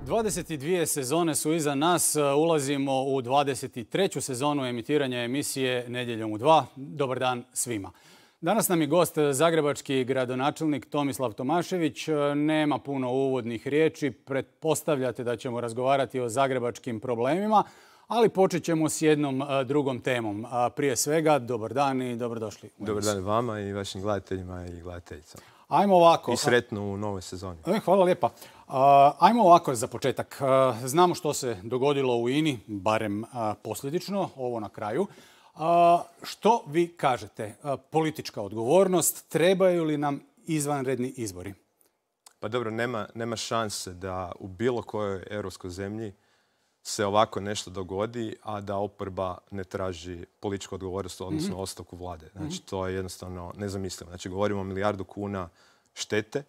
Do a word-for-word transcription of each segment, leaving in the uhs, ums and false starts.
dvadeset dvije sezone su iza nas, ulazimo u dvadeset treću sezonu emitiranja emisije Nedjeljom u dva. Dobar dan svima. Danas nam je gost zagrebački gradonačelnik Tomislav Tomašević. Nema puno uvodnih riječi, pretpostavljate da ćemo razgovarati o zagrebačkim problemima, ali počet ćemo s jednom drugom temom. Prije svega, dobar dan i dobrodošli. Dobar dan vama i vašim gledateljima i gledateljicama. Ajmo ovako. I sretno u novoj sezoni. Hvala lijepa. Ajmo ovako za početak. Znamo što se dogodilo u I N I, barem posljedično, ovo na kraju. Što vi kažete? Politička odgovornost, trebaju li nam izvanredni izbori? Pa dobro, nema, nema šanse da u bilo kojoj europskoj zemlji se ovako nešto dogodi, a da oporba ne traži političku odgovornost, odnosno mm-hmm. ostavku vlade. Znači, to je jednostavno nezamislivo. Znači, govorimo o milijardu kuna štete,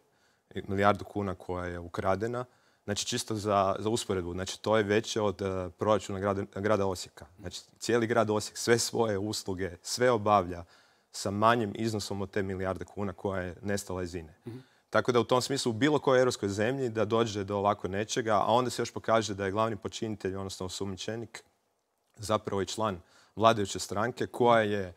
milijardu kuna koja je ukradena. Znači, čisto za, za usporedbu, znači, to je veće od uh, proračuna grada, grada Osijeka. Znači, cijeli grad Osijek sve svoje usluge, sve obavlja sa manjim iznosom od te milijarde kuna koja je nestala iz I N E. Mm-hmm. Tako da u tom smislu u bilo kojoj europskoj zemlji da dođe do ovako nečega, a onda se još pokaže da je glavni počinitelj, odnosno osumnjičenik, zapravo i član vladajuće stranke koja je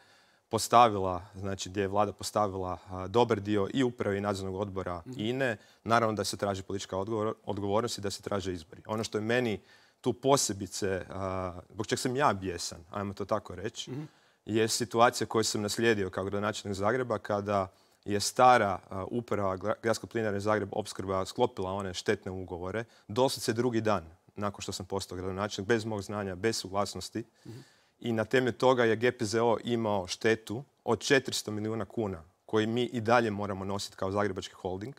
postavila, znači gdje je vlada postavila a, dobar dio i uprave i nadzornog odbora I N E. Naravno da se traži politička odgovor, odgovornost i da se traže izbori. Ono što je meni tu posebice, a, zbog čeg sam ja bijesan, ajmo to tako reći, mm-hmm. je situacija koju sam naslijedio kao gradonačelnik Zagreba kada je stara uh, uprava Gradske plinare Zagreb Opskrba sklopila one štetne ugovore, doslovce drugi dan nakon što sam postao gradonačelnik, bez mog znanja, bez suglasnosti. Mm-hmm. I na temelju toga je G P Z O imao štetu od četiristo milijuna kuna koji mi i dalje moramo nositi kao zagrebački holding.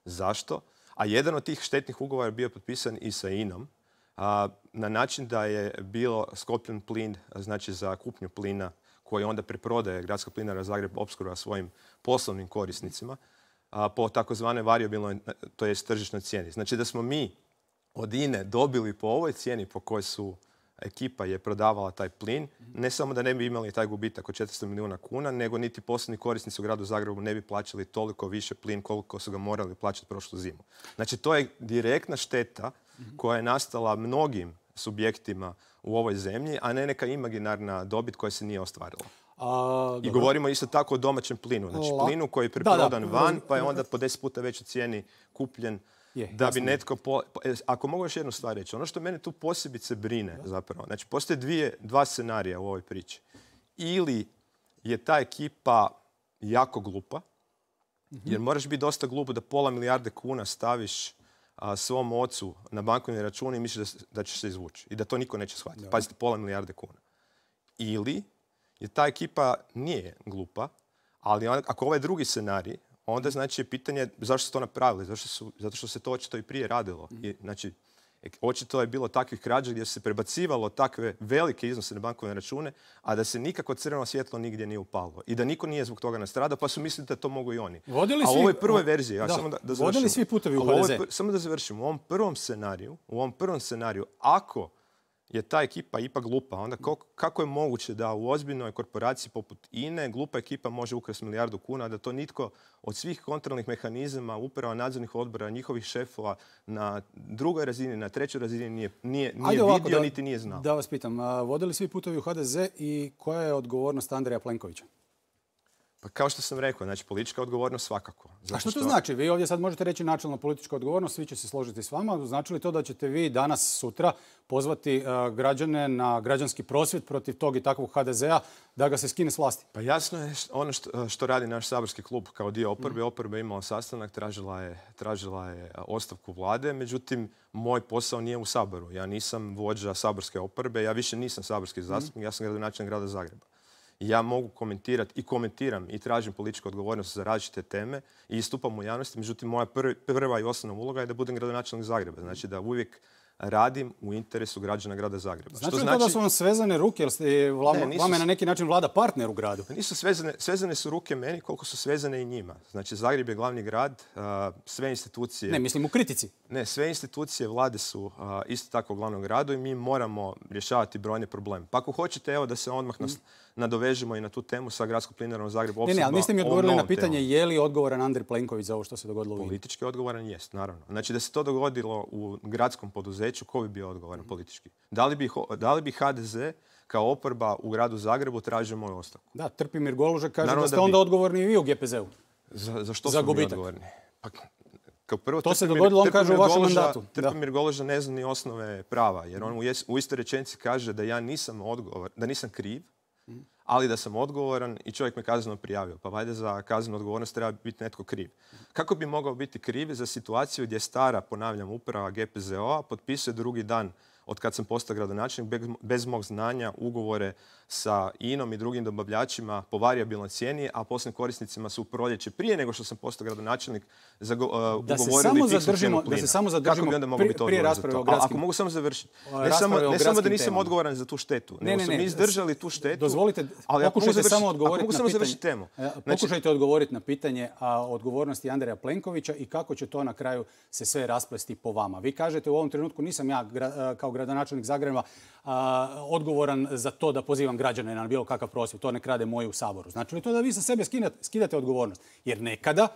Zašto? A jedan od tih štetnih ugovora je bio potpisan i sa I N O-m a, na način da je bilo sklopljen plin, znači za kupnju plina koji onda preprodaje Gradska plinara Zagreb Opskrba svojim poslovnim korisnicima a, po takozvanoj varijabilnoj, to jest tržišnoj cijeni. Znači da smo mi od I N E dobili po ovoj cijeni po kojoj su ekipa je prodavala taj plin, ne samo da ne bi imali taj gubitak od četiristo milijuna kuna, nego niti poslovni korisnici u gradu Zagrebu ne bi plaćali toliko više plin koliko su ga morali plaćati prošlu zimu. Znači to je direktna šteta koja je nastala mnogim subjektima u ovoj zemlji, a ne neka imaginarna dobit koja se nije ostvarila. A, I govorimo isto tako o domaćem plinu. Znači La... plinu koji je preprodan da, da. van, pa je onda po deset puta većoj cijeni kupljen. Je, da jasno. Bi netko... Po... Ako mogu još jednu stvar reći, ono što mene tu posebice brine da. Zapravo, znači postoje dvije, dva scenarija u ovoj priči. Ili je ta ekipa jako glupa, mm-hmm. jer moraš biti dosta glup da pola milijarde kuna staviš a, svom ocu na bankovni račun i misliš da, da ćeš se izvući i da to niko neće shvatiti. Da. Pazite, pola milijarde kuna. Ili je ta ekipa nije glupa, ali on, ako ovaj drugi scenarij, onda znači pitanje zašto su to napravili, zašto su, zato što se to očito i prije radilo. I, znači, očito je bilo takvih krađa gdje se prebacivalo takve velike iznose na bankovne račune, a da se nikako crveno svjetlo nigdje nije upalilo. I da niko nije zbog toga nastradao, pa su mislili da to mogu i oni. Vodili a u svi, ovoj prvoj verziji, ja da, samo da, da završim. Vodili svi putevi u H D Z. Samo da završim. U ovom prvom scenariju, u ovom prvom scenariju, ako je ta ekipa ipak glupa, onda kako je moguće da u ozbiljnoj korporaciji poput I N E glupa ekipa može ukrasti milijardu kuna, da to nitko od svih kontrolnih mehanizama, uprava, nadzornih odbora, njihovih šefova na drugoj razini, na trećoj razini nije, nije, nije ovako, vidio, da, niti nije znao. Da vas pitam, vodili svi putovi u H D Z i koja je odgovornost Andreja Plenkovića? Pa kao što sam rekao, znači politička odgovornost svakako. Zato A što to što... znači? Vi ovdje sad možete reći načelno politička odgovornost, svi će se složiti s vama. Znači li to da ćete vi danas, sutra pozvati uh, građane na građanski prosvjed protiv tog i takvog H D Z-a da ga se skine s vlasti? Pa jasno je ono što, što radi naš saborski klub kao dio oporbe. Mm. Oporba je imala sastanak, tražila je, tražila je ostavku vlade. Međutim, moj posao nije u Saboru. Ja nisam vođa saborske oporbe, ja više nisam saborski zastupnik, mm. ja sam gradonačelnik grada Zagreba. Ja mogu komentirati i komentiram i tražim političku odgovornost za različite teme i istupam u javnosti. Međutim, moja prvi, prva i osnovna uloga je da budem gradonačelnik Zagreba. Znači da uvijek radim u interesu građana grada Zagreba. Znači li to da su vam svezane ruke, jer ste vama, Ne, nisu vama je s- na neki način vlada partner u gradu? Nisu svezane, svezane su ruke meni koliko su svezane i njima. Znači, Zagreb je glavni grad, a, sve institucije... Ne, mislim u kritici. Ne, sve institucije vlade su a, isto tako u glavnom gradu i mi moramo rješavati brojne probleme. Pa ako hoćete, evo da se odmah nas nadovežemo i na tu temu sa gradskom plinarom u Zagrebu. Ne, ne, ali niste mi ovom odgovorili na novom pitanje temom. je li odgovoran Andrej Plenković za ovo što se dogodilo u INA-i. Politički odgovoran jest, naravno. Znači da se to dogodilo u gradskom poduzeću, ko bi bio odgovoran politički? Da li bi, ho- da li bi ha de ze kao oporba u gradu Zagrebu tražio moju ostavku? Da, Trpimir Golužak kaže Naravno da ste da bi. onda odgovorni i vi u ge pe zeu. Za, za što Za smo mi gubitak. odgovorni? Pa, kao prvo, To se Trpimir- dogodilo, on kaže, u Trpimir vašem Goluža- mandatu. Da. Trpimir Goluža ne zna ni osnove prava, jer on u, jes- u istoj rečenici kaže da ja nisam odgovor, da nisam kriv, ali da sam odgovoran i čovjek me kazneno prijavio. Pa valjda za kaznenu odgovornost treba biti netko kriv. Kako bi mogao biti kriv za situaciju gdje stara, ponavljam, uprava ge pe ze o-a potpisuje drugi dan od kad sam postao gradonačelnik bez, bez mog znanja ugovore sa inom i drugim dobavljačima po varijabilnoj cijeni, a posljednim korisnicima su u proljeće prije nego što sam postao gradonačelnik zago, uh, Da se ugovorili samo fiksnu zadržimo- cijenu da se plina. samo zadržimo Kako bi onda mogao pri- biti prije odgovoran za rasprave to? o A gradskim- ako mogu samo završiti. o Ne samo, rasprave o ne samo da gradskim nisam temama. odgovoran za tu štetu, Ne, nego ne, smo ne. mi izdržali tu štetu. Dozvolite, ali ako mogu pokušajte završiti- samo ako odgovoriti mogu na samo pitanje. završiti temu. E, Znači, Pokušajte odgovoriti na pitanje a, odgovornosti Andreja Plenkovića i kako će to na kraju se sve rasplesti po vama. Vi kažete u ovom trenutku nisam ja gra- kao gradonačelnik Zagreba a, odgovoran za to da pozivam građane na bilo kakav prosvjed. To nek rade moji u Saboru. Znači li to da vi sa sebe skidate, skidate odgovornost? Jer nekada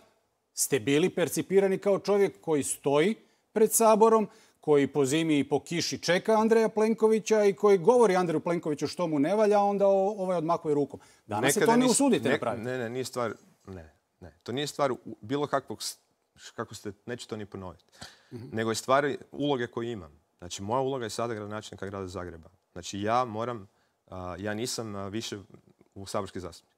ste bili percipirani kao čovjek koji stoji pred Saborom, koji po zimi i po kiši čeka Andreja Plenkovića i koji govori Andreju Plenkoviću što mu ne valja, a onda o- ovaj odmakuje rukom. Danas se to ne nis- usudite ne- napraviti. Ne, ne, nije stvar, ne, ne. To nije stvar u- bilo kakvog, s- kako ste, neću to ni ponoviti, nego je stvar uloge koju imam. Znači, moja uloga je sada gradonačelnika grada Zagreba. Znači, ja moram, a, ja nisam a, više u saborski zastupnik.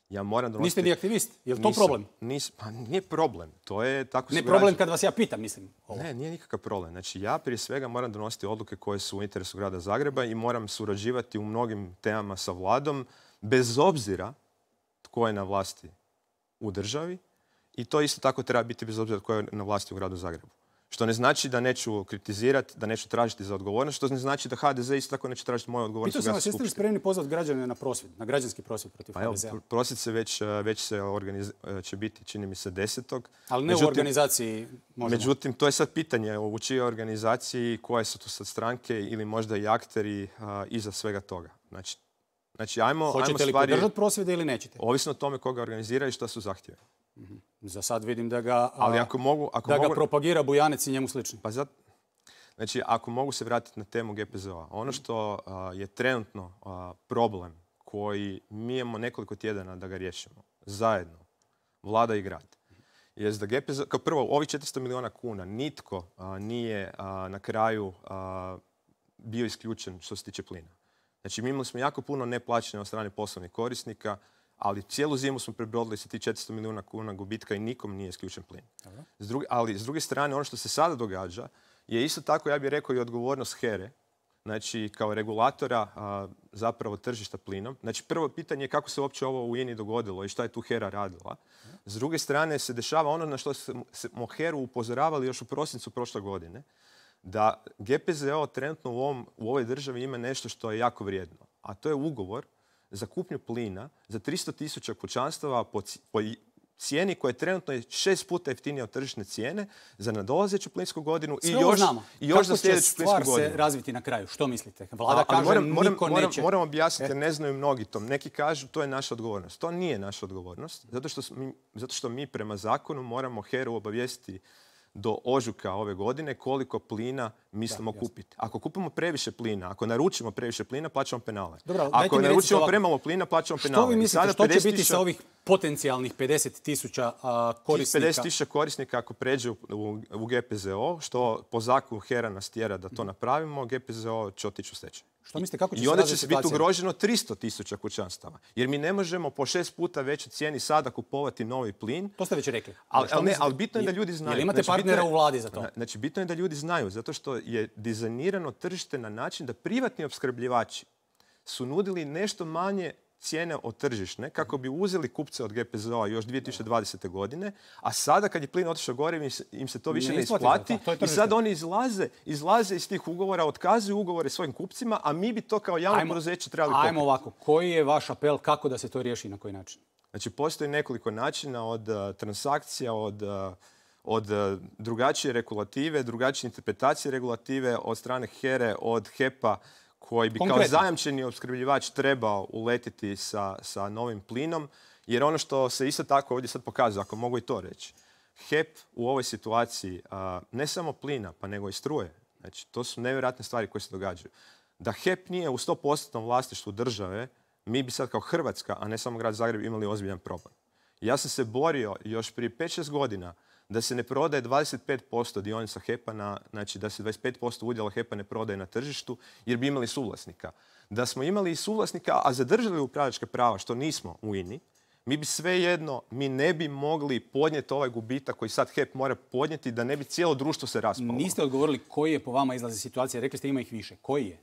Ja moram donositi... Niste ni aktivist. Je li to Nisam, problem? nis- pa nije problem. To je tako Ne su problem građani- kad vas ja pitam, mislim. Ovo. Ne, nije nikakav problem. Znači, ja prije svega moram donositi odluke koje su u interesu grada Zagreba i moram surađivati u mnogim temama sa vladom, bez obzira tko je na vlasti u državi. I to isto tako treba biti bez obzira tko je na vlasti u gradu Zagrebu. Što ne znači da neću kritizirati, da neću tražiti za odgovornost, što ne znači da ha de ze isto tako neće tražiti moju odgovornost Pitao u sam vas, gradskoj jeste li skupštini. spremni pozvati građane na prosvjed, na građanski prosvjed protiv Pa evo, ha de zea? prosvjed se već, već se organiz... će biti, čini mi se, desetog. Ali ne u organizaciji možemo. Međutim, to je sad pitanje u čijoj organizaciji, koje su tu sad stranke ili možda i akteri a, iza svega toga. Znači, znači ajmo, ajmo Hoćete li stvari, podržati prosvjede ili nećete? ovisno o tome koga organizira i što su zahtjeve. Za sad vidim da ga, a, Ali ako mogu... Ako da ga mogu propagira Bujanec i njemu slični. pa zat, znači, ako mogu se vratiti na temu ge pe ze o-a, ono što a, je trenutno a, problem koji mi imamo nekoliko tjedana da ga riješimo zajedno, vlada i grad, je da ge pe ze o, kao prvo, ovih četiristo milijuna kuna nitko a, nije a, na kraju a, bio isključen što se tiče plina. Znači, mi imali smo jako puno neplaćanja od strane poslovnih korisnika, ali cijelu zimu smo prebrodili sa tih četiristo milijuna kuna gubitka i nikom nije isključen plin. S druge, ali s druge strane, ono što se sada događa je isto tako, ja bih rekao, i odgovornost here, znači kao regulatora a, zapravo tržišta plinom. Znači, prvo pitanje je kako se uopće ovo u INA-i dogodilo i šta je tu HERA radila. S druge strane se dešava ono na što smo HERU upozoravali još u prosincu prošle godine, da ge pe ze o trenutno u, ovom, u ovoj državi ima nešto što je jako vrijedno, a to je ugovor za kupnju plina za tristo tisuća kućanstava po, ci- po i- cijeni koja je trenutno je šest puta jeftinija od tržišne cijene za nadolazeću plinsku godinu i Sve ovo još, znamo. i još Kako za će sljedeću plinsku stvar godinu. se razviti na kraju? Što mislite? Vlada A- ali kaže moram, moram, niko moram, neće. moram objasniti jer E. ne znaju mnogi to. Neki kažu to je naša odgovornost. To nije naša odgovornost, zato što, smo mi, zato što mi prema zakonu moramo HERU obavijestiti do ožujka ove godine koliko plina mislimo jasno. kupiti. Ako kupimo previše plina, ako naručimo previše plina, plaćamo penale. Dobro, ali dajte ako mi recite naručimo ovako. premalo plina, plaćamo penale. Što vi I mislite, sada što će pedeset biti tisuća sa ovih potencijalnih pedeset tisuća a, tih korisnika? pedeset tisuća korisnika ako pređe u, u, u ge pe ze o, što po zakonu HERA nas tjera da to napravimo, ge pe ze o će otići u stečaj. Što mislite, kako će I se onda će razviti se biti situacija? ugroženo tristo tisuća kućanstava. Jer mi ne možemo po šest puta većoj cijeni sada kupovati novi plin. To ste već rekli. Ali, Što ali, ne, mislite? ali bitno je da ljudi znaju. Jel imate Znači, bitno partnera je- u vladi za to? Znači, bitno je da ljudi znaju, zato što je dizajnirano tržište na način da privatni opskrbljivači su nudili nešto manje cijene od tržišne kako bi uzeli kupce od G P Z O-a još dvije tisuće dvadesete. godine, a sada kad je plin otišao gore im se, im se to više ne, ne isplati i sad oni izlaze, izlaze iz tih ugovora, otkazuju ugovore svojim kupcima, a mi bi to kao javno poduzeće trebali pokriti. Ajmo ovako, koji je vaš apel kako da se to riješi i na koji način? Znači, postoji nekoliko načina od uh, transakcija, od, uh, od uh, drugačije regulative, drugačije interpretacije regulative, od strane H E R E, od H E P-a, koji bi Konkretno. kao zajamčeni opskrbljivač trebao uletiti sa, sa novim plinom. Jer ono što se isto tako ovdje sad pokazuje, ako mogu i to reći, H E P u ovoj situaciji, uh, ne samo plina, pa nego i struje. Znači, to su nevjerojatne stvari koje se događaju. Da H E P nije u sto posto vlasništvu države, mi bi sad kao Hrvatska, a ne samo grad Zagreb, imali ozbiljan problem. Ja sam se borio još prije pet šest godina da se ne prodaje dvadeset pet posto dionica H E P-a, na, znači da se dvadeset pet posto udjela H E P-a ne prodaje na tržištu, jer bi imali suvlasnika. Da smo imali i suvlasnika, a zadržali upravljačka prava, što nismo u I N I, mi bi svejedno, mi ne bi mogli podnijeti ovaj gubitak koji sad H E P mora podnijeti, da ne bi cijelo društvo se raspalo. Niste odgovorili koji je po vama izlazi situacija. Rekli ste ima ih više. Koji je?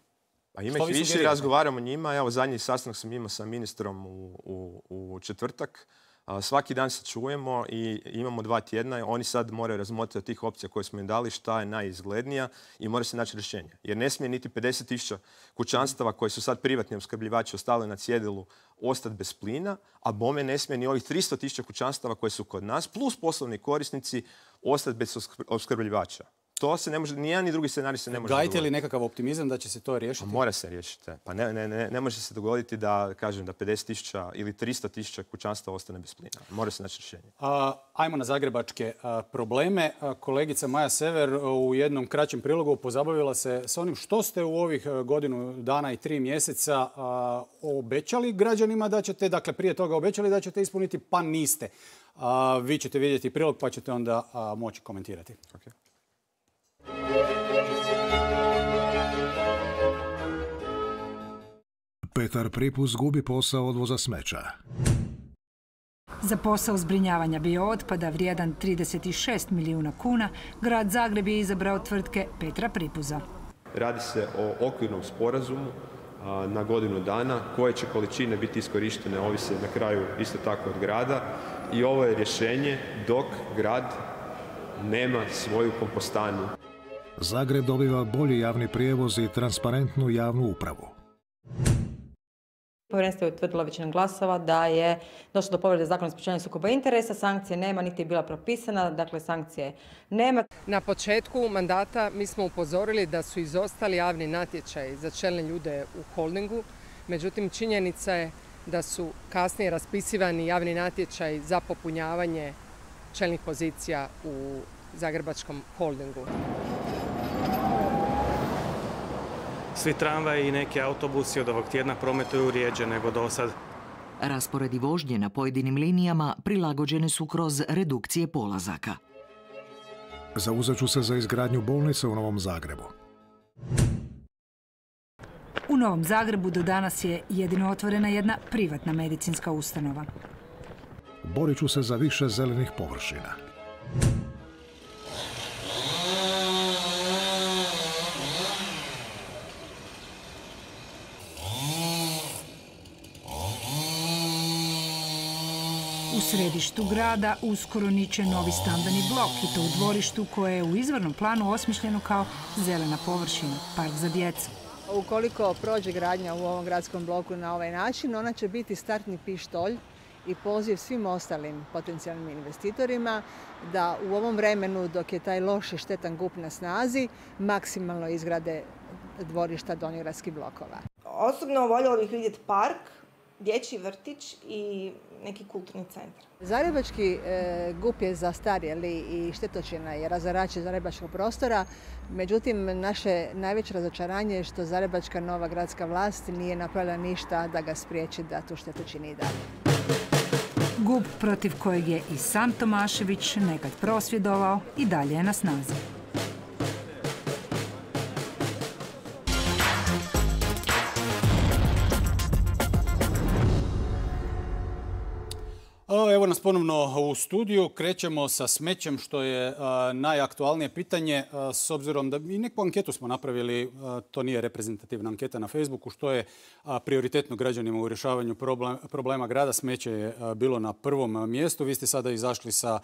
Pa ima ih više i razgovaramo njima. Evo, zadnji sastanak sam imao sa ministrom u, u, u četvrtak. A, svaki dan se čujemo i imamo dva tjedna. Oni sad moraju razmotriti od tih opcija koje smo im dali šta je najizglednija i mora se naći rješenje. Jer ne smije niti pedeset tisuća kućanstava koji su sad privatni opskrbljivači ostali na cjedilu ostati bez plina, a bome ne smije ni ovih tristo tisuća kućanstava koji su kod nas, plus poslovni korisnici, ostati bez opskrbljivača. To se ne može, ni jedan ni drugi scenarij se ne može dogoditi. Gajite li nekakav optimizam da će se to riješiti? Pa mora se riješiti. Pa ne, ne, ne, ne može se dogoditi da, kažem, da pedeset tisuća ili tristo tisuća kućanstva ostane bez plina. Mora se naći rješenje. A, ajmo na zagrebačke a, probleme. A, kolegica Maja Sever u jednom kraćem prilogu pozabavila se s onim što ste u ovih godinu dana i tri mjeseca a, obećali građanima da ćete, dakle prije toga obećali da ćete ispuniti, pa niste. A, vi ćete vidjeti prilog pa ćete onda a, moći komentirati. Okay. Petar Pripuz gubi posao odvoza smeća. Za posao zbrinjavanja biootpada vrijedan trideset šest milijuna kuna, grad Zagreb je izabrao tvrtke Petra Pripuza. Radi se o okvirnom sporazumu a, na godinu dana, koje će količine biti iskorištene, ovise na kraju isto tako od grada. I ovo je rješenje dok grad nema svoju kompostanu. Zagreb dobiva bolji javni prijevoz i transparentnu javnu upravu. Povjerenstvo je utvrdilo većinom glasova da je došlo do povrede Zakona o sprječavanju sukoba interesa, sankcije nema, niti je bila propisana, dakle sankcije nema. Na početku mandata mi smo upozorili da su izostali javni natječaji za čelne ljude u holdingu, međutim činjenica je da su kasnije raspisivani javni natječaji za popunjavanje čelnih pozicija u Zagrebačkom holdingu. Svi tramvaji i neki autobusi od ovog tjedna prometuju rijeđe nego do sad. Rasporedi vožnje na pojedinim linijama prilagođene su kroz redukcije polazaka. Zauzet ću se za izgradnju bolnice u Novom Zagrebu. U Novom Zagrebu do danas je jedino otvorena jedna privatna medicinska ustanova. Borit ću se za više zelenih površina. U središtu grada uskoro niče novi stambeni blok i to u dvorištu koje je u izvornom planu osmišljeno kao zelena površina, park za djecu. Ukoliko prođe gradnja u ovom gradskom bloku na ovaj način, ona će biti startni pištolj i poziv svim ostalim potencijalnim investitorima da u ovom vremenu dok je taj loš i štetan G U P na snazi maksimalno izgrade dvorišta donjogradskih blokova. Osobno voljela bih vidjeti park, dječji vrtić i neki kulturni centar. Zagrebački e, G U P je zastarjeli i štetočina je razarač zagrebačkog prostora. Međutim, naše najveće razočaranje je što zagrebačka nova gradska vlast nije napravila ništa da ga spriječi da tu štetu čini i dalje. G U P protiv kojeg je i sam Tomašević nekad prosvjedovao i dalje je na snazi. Evo Evo nas ponovno u studiju. Krećemo sa smećem, što je a, najaktualnije pitanje. A, s obzirom da i neku anketu smo napravili, a, to nije reprezentativna anketa na Facebooku, što je a, prioritetno građanima u rješavanju problem, problema grada. Smeće je a, bilo na prvom mjestu. Vi ste sada izašli sa a,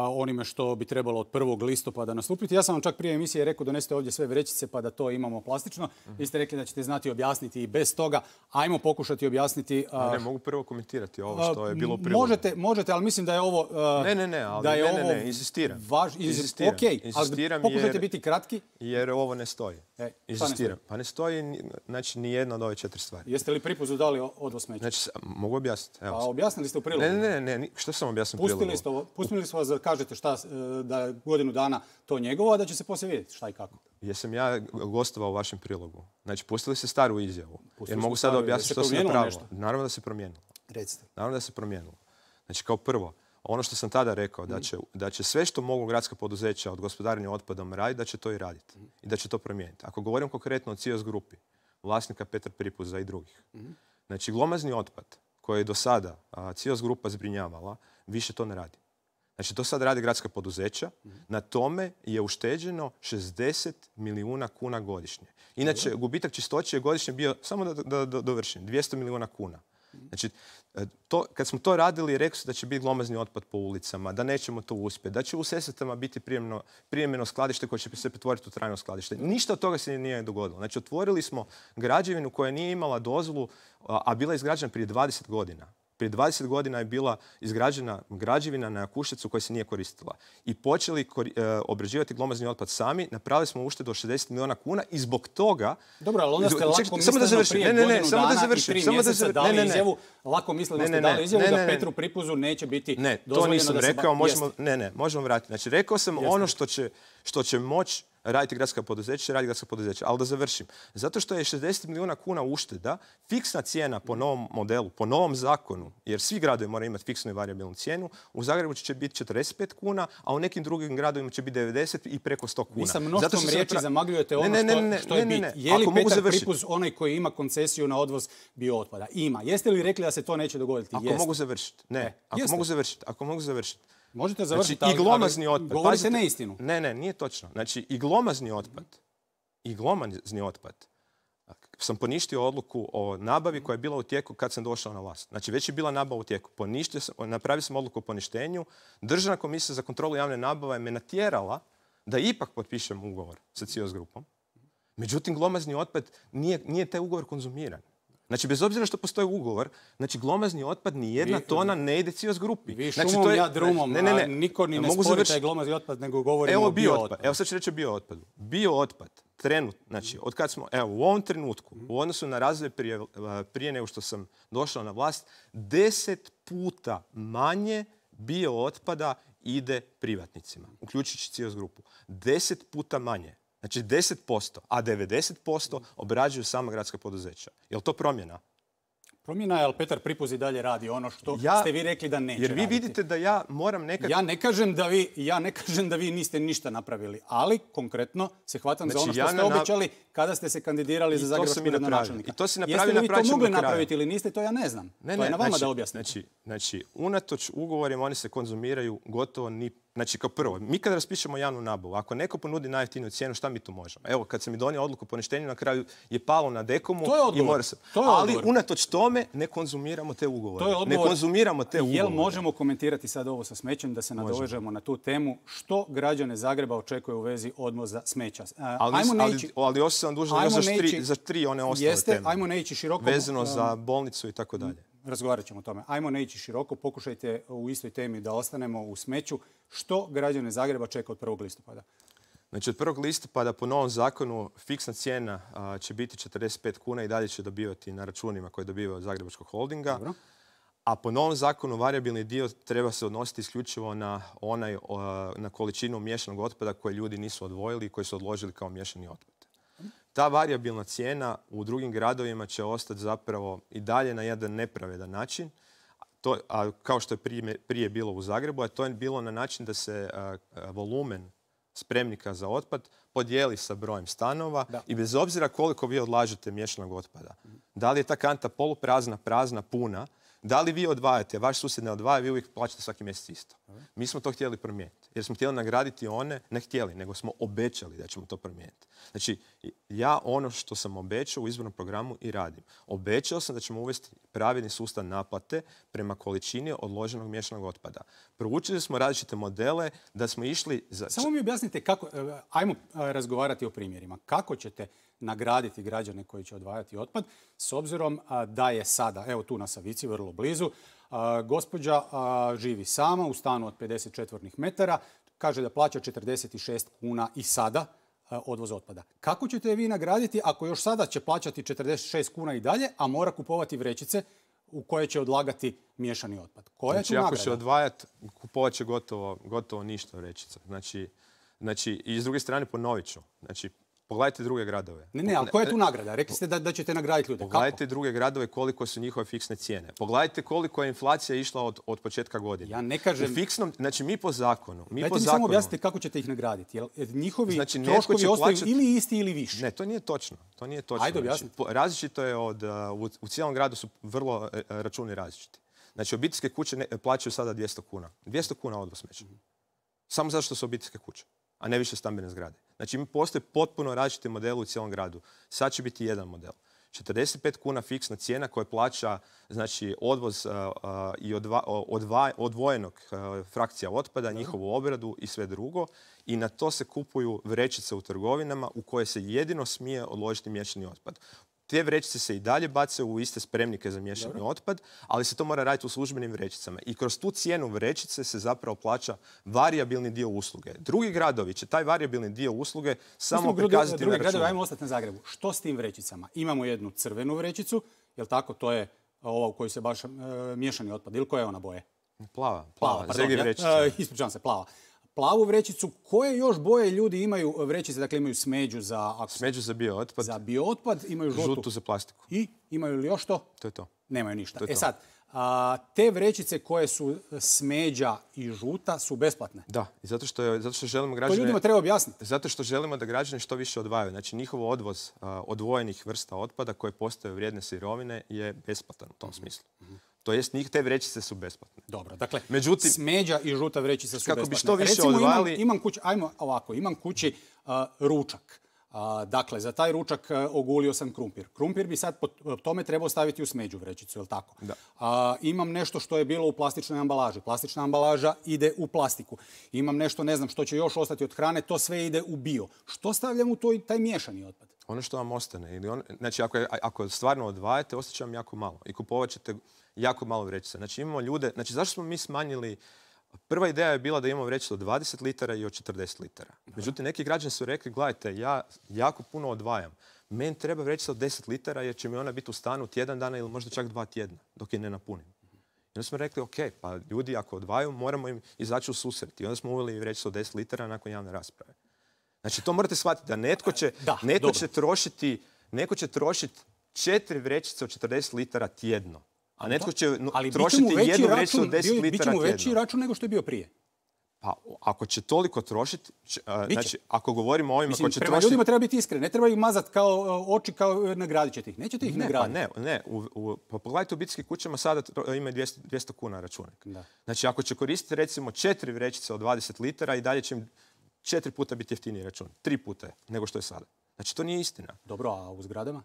onime što bi trebalo od prvog listopada nastupiti. Ja sam vam čak prije emisije rekao donesite ovdje sve vrećice pa da to imamo plastično. Vi ste rekli da ćete znati objasniti i bez toga. Ajmo pokušati objasniti. A, ne, ne, mogu prvo komentirati ovo što je bilo u prilogu. Možete, možete, ali mislim da je ovo... Uh, ne, ne, ne, ali da je ne, ne, ovo ne, inzistiram. Važ, inzistiram. Ok, ali pokušajte jer, biti kratki. Jer ovo ne stoji. E, inzistiram. Ne stoji? Pa ne stoji, znači, ni jedna od ove četiri stvari. Jeste li Pripuzu dali odvoz smeća? Znači, mogu objasniti. Evo. A objasnili ste u prilogu? Ne, ne, ne, ne, što sam objasnio u prilogu? Pustili ste ovo, pustili smo vas da kažete šta, da je godinu dana to njegovo, a da će se poslije vidjeti šta i kako. Jesam ja gostovao u vašem prilogu. Znači, pustili ste staru izjavu. Pustili jer mogu sada objasniti što se napravilo. Nešto? Naravno da se promijenilo. Recite. Naravno da se promijenilo. Znači, kao prvo, ono što sam tada rekao, da će, da će sve što mogu gradska poduzeća od gospodarenja otpadom raditi, da će to i raditi. I da će to promijeniti. Ako govorim konkretno o Cios grupi, vlasnika Petar Pripuza i drugih. Znači, glomazni otpad koji je do sada Cios grupa zbrinjavala, više to ne radi. Znači, to sad radi gradska poduzeća. Na tome je ušteđeno šezdeset milijuna kuna godišnje. Inače, gubitak čistoće je godišnje bio, samo da, da, da dovršim, dvjesto milijuna kuna. Znači, to, kad smo to radili, rekli su da će biti glomazni otpad po ulicama, da nećemo to uspjeti, da će u Sesvetama biti prijemno, prijemno skladište koje će se pretvoriti u trajno skladište. Ništa od toga se nije dogodilo. Znači, otvorili smo građevinu koja nije imala dozvolu, a, a bila je izgrađena prije dvadeset godina. Prije dvadeset godina je bila izgrađena građevina na Jakuševcu koja se nije koristila. I počeli e, obrađivati glomazni otpad sami, napravili smo uštedu od šezdeset milijuna kuna i zbog toga... Dobro, ali onda ste lako misleno prije ne, ne, ne, godinu dana da i tri mjeseca da dali ne, ne, ne. izjavu, lako misleno ste dali izjavu ne, ne, ne, da Petru Pripuzu neće biti ne, dozvoljeno to nisam da rekao, se... Možemo, ne, ne, možemo vratiti. Znači, rekao sam Jasne. ono što će, što će moći raditi gradska poduzeća, radi gradska poduzeća. Ali da završim. Zato što je šezdeset milijuna kuna ušteda, fiksna cijena po novom modelu, po novom zakonu, jer svi gradovi moraju imati fiksnu i varijabilnu cijenu, u Zagrebu će biti četrdeset pet kuna, a u nekim drugim gradovima će biti devedeset i preko sto kuna. Vi sa mnoštvom riječi napra... zamagljujete ono ne, ne, ne, što, što je bit. Je li Petar Pripuz onaj koji ima koncesiju na odvoz biootpada? Ima. Jeste li rekli da se to neće dogoditi? Ako mogu završiti. Ne. Ako mogu završiti. Ako mogu završiti. Možete završiti, znači, i glomazni otpad. Govorite Pazite, neistinu. Ne, ne, nije točno. Znači, i glomazni otpad, i glomazni otpad, sam poništio odluku o nabavi koja je bila u tijeku kad sam došao na vlast. Znači, već je bila nabava u tijeku. Poništio sam, napravio sam odluku o poništenju. Državna komisija za kontrolu javne nabave me natjerala da ipak potpišem ugovor sa Cios grupom. Međutim, glomazni otpad nije, nije taj ugovor konzumiran. Znači, bez obzira što postoji ugovor, znači glomazni otpad ni jedna vi, tona ne ide Cios grupi. Vi znači, šumom, to je, ja drumom, ne, ne, ne. niko ni ne mogu spori taj glomazni otpad, nego govorimo evo, o biootpadu. Evo sad ću reći o biootpadu. Biootpad, trenut, znači, od kad smo, evo, u ovom trenutku, u odnosu na razvoj prije, prije nego što sam došao na vlast, deset puta manje biootpada ide privatnicima, uključujući Cios grupu. Deset puta manje. Znači deset posto, a devedeset posto obrađuju sama gradska poduzeća. Je li to promjena? Promjena je, ali Petar Pripuz i dalje radi ono što ja, ste vi rekli da neće Jer vi raditi. vidite da ja moram nekako... Ja ne kažem da vi, ja ne kažem da vi niste ništa napravili, ali konkretno se hvatam znači, za ono što ja ste obećali na... kada ste se kandidirali za zagrebačkog gradonačelnika. I to se napravili, Jeste li vi to mogli napraviti ili niste, to ja ne znam. Ne, to je ne, na vama znači, da objasnite. Znači, znači, unatoč ugovorima oni se konzumiraju gotovo ni... Znači, kao prvo, mi kad raspišemo javnu nabavu, ako neko ponudi najjeftiniju cijenu, šta mi tu možemo? Evo, kad sam mi donio odluku o poništenju, na kraju je palo na Dekomu i mora se... To je ali unatoč tome ne konzumiramo te ugovore. To je ne konzumiramo te ugovore. Jel možemo komentirati sad ovo sa smećem, da se nadovežemo na tu temu? Što građane Zagreba očekuje u vezi odvoza smeća? Ali, ajmo ali, neći, ali još sam dužan za, tri, za tri one ostale jeste, teme. Ajmo ne ići široko. Vezano um, za bolnicu i tako dalje. Razgovarat ćemo o tome. Ajmo ne ići široko, pokušajte u istoj temi da ostanemo u smeću. Što građane Zagreba čeka od prvog listopada? Znači od prvog listopada po novom zakonu fiksna cijena a, će biti četrdeset pet kuna i dalje će dobivati na računima koje dobivaju od Zagrebačkog holdinga. Dobro. A po novom zakonu varijabilni dio treba se odnositi isključivo na, onaj, a, na količinu miješanog otpada koje ljudi nisu odvojili i koji su odložili kao miješani otpad. Ta varijabilna cijena u drugim gradovima će ostati zapravo i dalje na jedan nepravedan način. To, a kao što je prije, prije bilo u Zagrebu, a to je bilo na način da se a, a, volumen spremnika za otpad podijeli sa brojem stanova da. I bez obzira koliko vi odlažete miješanog otpada. Da li je ta kanta poluprazna, prazna, puna, Da li vi odvajate, vaš susjed ne odvaja, vi uvijek plaćate svaki mjesec isto. Mi smo to htjeli promijeniti. Jer smo htjeli nagraditi one, ne htjeli, nego smo obećali da ćemo to promijeniti. Znači, ja ono što sam obećao u izbornom programu i radim. Obećao sam da ćemo uvesti pravilni sustav naplate prema količini odloženog miješanog otpada. Proučili smo različite modele da smo išli za... Samo mi objasnite kako, ajmo razgovarati o primjerima. Kako ćete nagraditi građane koji će odvajati otpad s obzirom da je sada, evo tu na Savici, vrlo blizu, gospođa živi sama u stanu od pedeset četvornih metara, kaže da plaća četrdeset šest kuna i sada odvoz otpada. Kako ćete je vi nagraditi ako još sada će plaćati četrdeset šest kuna i dalje, a mora kupovati vrećice u koje će odlagati miješani otpad? Koja je tu nagrada? Znači, ako će odvajati, kupovat će gotovo, gotovo ništa vrećica. Znači, znači, i s druge strane ponovit ću. Znači, pogledajte druge gradove. Ne, ne, ali koja je tu nagrada? Rekli ste da, da ćete nagraditi ljude. Pogledajte Kako? druge gradove koliko su njihove fiksne cijene. Pogledajte koliko je inflacija išla od, od početka godine. Ja ne kažem... U fiksnom, znači mi po zakonu... Mi Dajte po mi zakonu, samo objasnite kako ćete ih nagraditi. Jel njihovi znači, troškovi ostaju plaćati... ili isti ili više? Ne, to nije točno. To nije točno. Ajde, objasnite. Znači, različito je od... U, u cijelom gradu su vrlo računi različiti. Znači, obiteljske kuće ne, plaćaju sada dvjesto kuna. dvjesto kuna odvoz smeća. Mm-hmm. Samo zato što su obiteljske kuće, a ne više stambene zgrade. Znači, postoje potpuno različiti modeli u cijelom gradu. Sad će biti jedan model. četrdeset pet kuna fiksna cijena koja plaća znači, odvoz uh, uh, i odva, odva, odvojenog uh, frakcija otpada, njihovu obradu i sve drugo. I na to se kupuju vrećice u trgovinama u koje se jedino smije odložiti miješani otpad. Te vrećice se i dalje bace u iste spremnike za miješani Dobro. otpad, ali se to mora raditi u službenim vrećicama. I kroz tu cijenu vrećice se zapravo plaća varijabilni dio usluge. Drugi gradovi će taj varijabilni dio usluge samo prikazati drugi na računu. Gradovi, ajmo ostati na Zagrebu. Što s tim vrećicama? Imamo jednu crvenu vrećicu, jel tako? To je ova u kojoj se baš e, miješani otpad. Ili koja je ona boje? Plava. Plava, plava pardon. Ja, e, ispričavam se, plava. Plavu vrećicu, koje još boje ljudi imaju vrećice? Dakle, imaju smeđu za... Ako... Smeđu za biootpad. Za biootpad, imaju žutu. Žutu za plastiku. I imaju li još to? To je to. Nemaju ništa. To je e to. sad, a, te vrećice koje su smeđa i žuta su besplatne. Da, i zato što, je, zato što želimo građane... To ljudima treba objasniti. Zato što želimo da građani što više odvajaju. Znači, njihov odvoz a, odvojenih vrsta otpada koje postaju vrijedne sirovine je besplatan u tom mm-hmm. smislu. Mm-hmm. To jest, njih te vrećice su besplatne. Dobro, dakle, Međutim, smeđa i žuta vrećica su kako besplatne. Bi što više Recimo, odvajali... imam, imam kući, ajmo ovako, imam kući uh, ručak. Uh, dakle, za taj ručak uh, ogulio sam krumpir. Krumpir bi sad po tome trebao staviti u smeđu vrećicu, je li tako? Da. Uh, imam nešto što je bilo u plastičnoj ambalaži. Plastična ambalaža ide u plastiku. Imam nešto, ne znam, što će još ostati od hrane, to sve ide u bio. Što stavljam u to, taj miješani otpad? Ono što vam ostane. Ili on, znači, ako, je, ako stvarno odvajate, ostaće vam jako malo. I kupovat ćete jako malo vrećica. Znači, imamo ljude... Znači, zašto smo mi smanjili... Prva ideja je bila da imamo vrećicu od dvadeset litara i od četrdeset litara. Međutim, neki građani su rekli, gledajte, ja jako puno odvajam. Meni treba vrećica od deset litara jer će mi ona biti u stanu tjedan dana ili možda čak dva tjedna dok je ne napunim. I onda smo rekli, ok, pa ljudi ako odvaju, moramo im izaći u susret. I onda smo uveli vrećicu od deset litara nakon javne rasprave. Znači, to morate shvatiti da netko će, da, netko će trošiti, netko će trošiti četiri vrećice od četrdeset litara tjedno. A netko će ali trošiti jednu vrećicu od deset litara tjedno. Biće mu veći račun nego što je bio prije. Pa, ako će toliko trošiti, znači, ako govorimo o ovima Mislim, ko će prema trošiti... ljudima treba biti iskren. Ne treba ih mazati kao oči, kao nagradit ćete ih. Nećete ih ne, nagraditi. Pa ne, ne. U, u, pa pogledajte u obiteljskim kućama sada ima dvjesto, dvjesto kuna računak. Da. Znači, ako će koristiti recimo četiri vrećice od dvadeset litara i dalje će im četiri puta biti jeftiniji račun. Tri puta je nego što je sada. Znači, to nije istina. Dobro, a u zgradama?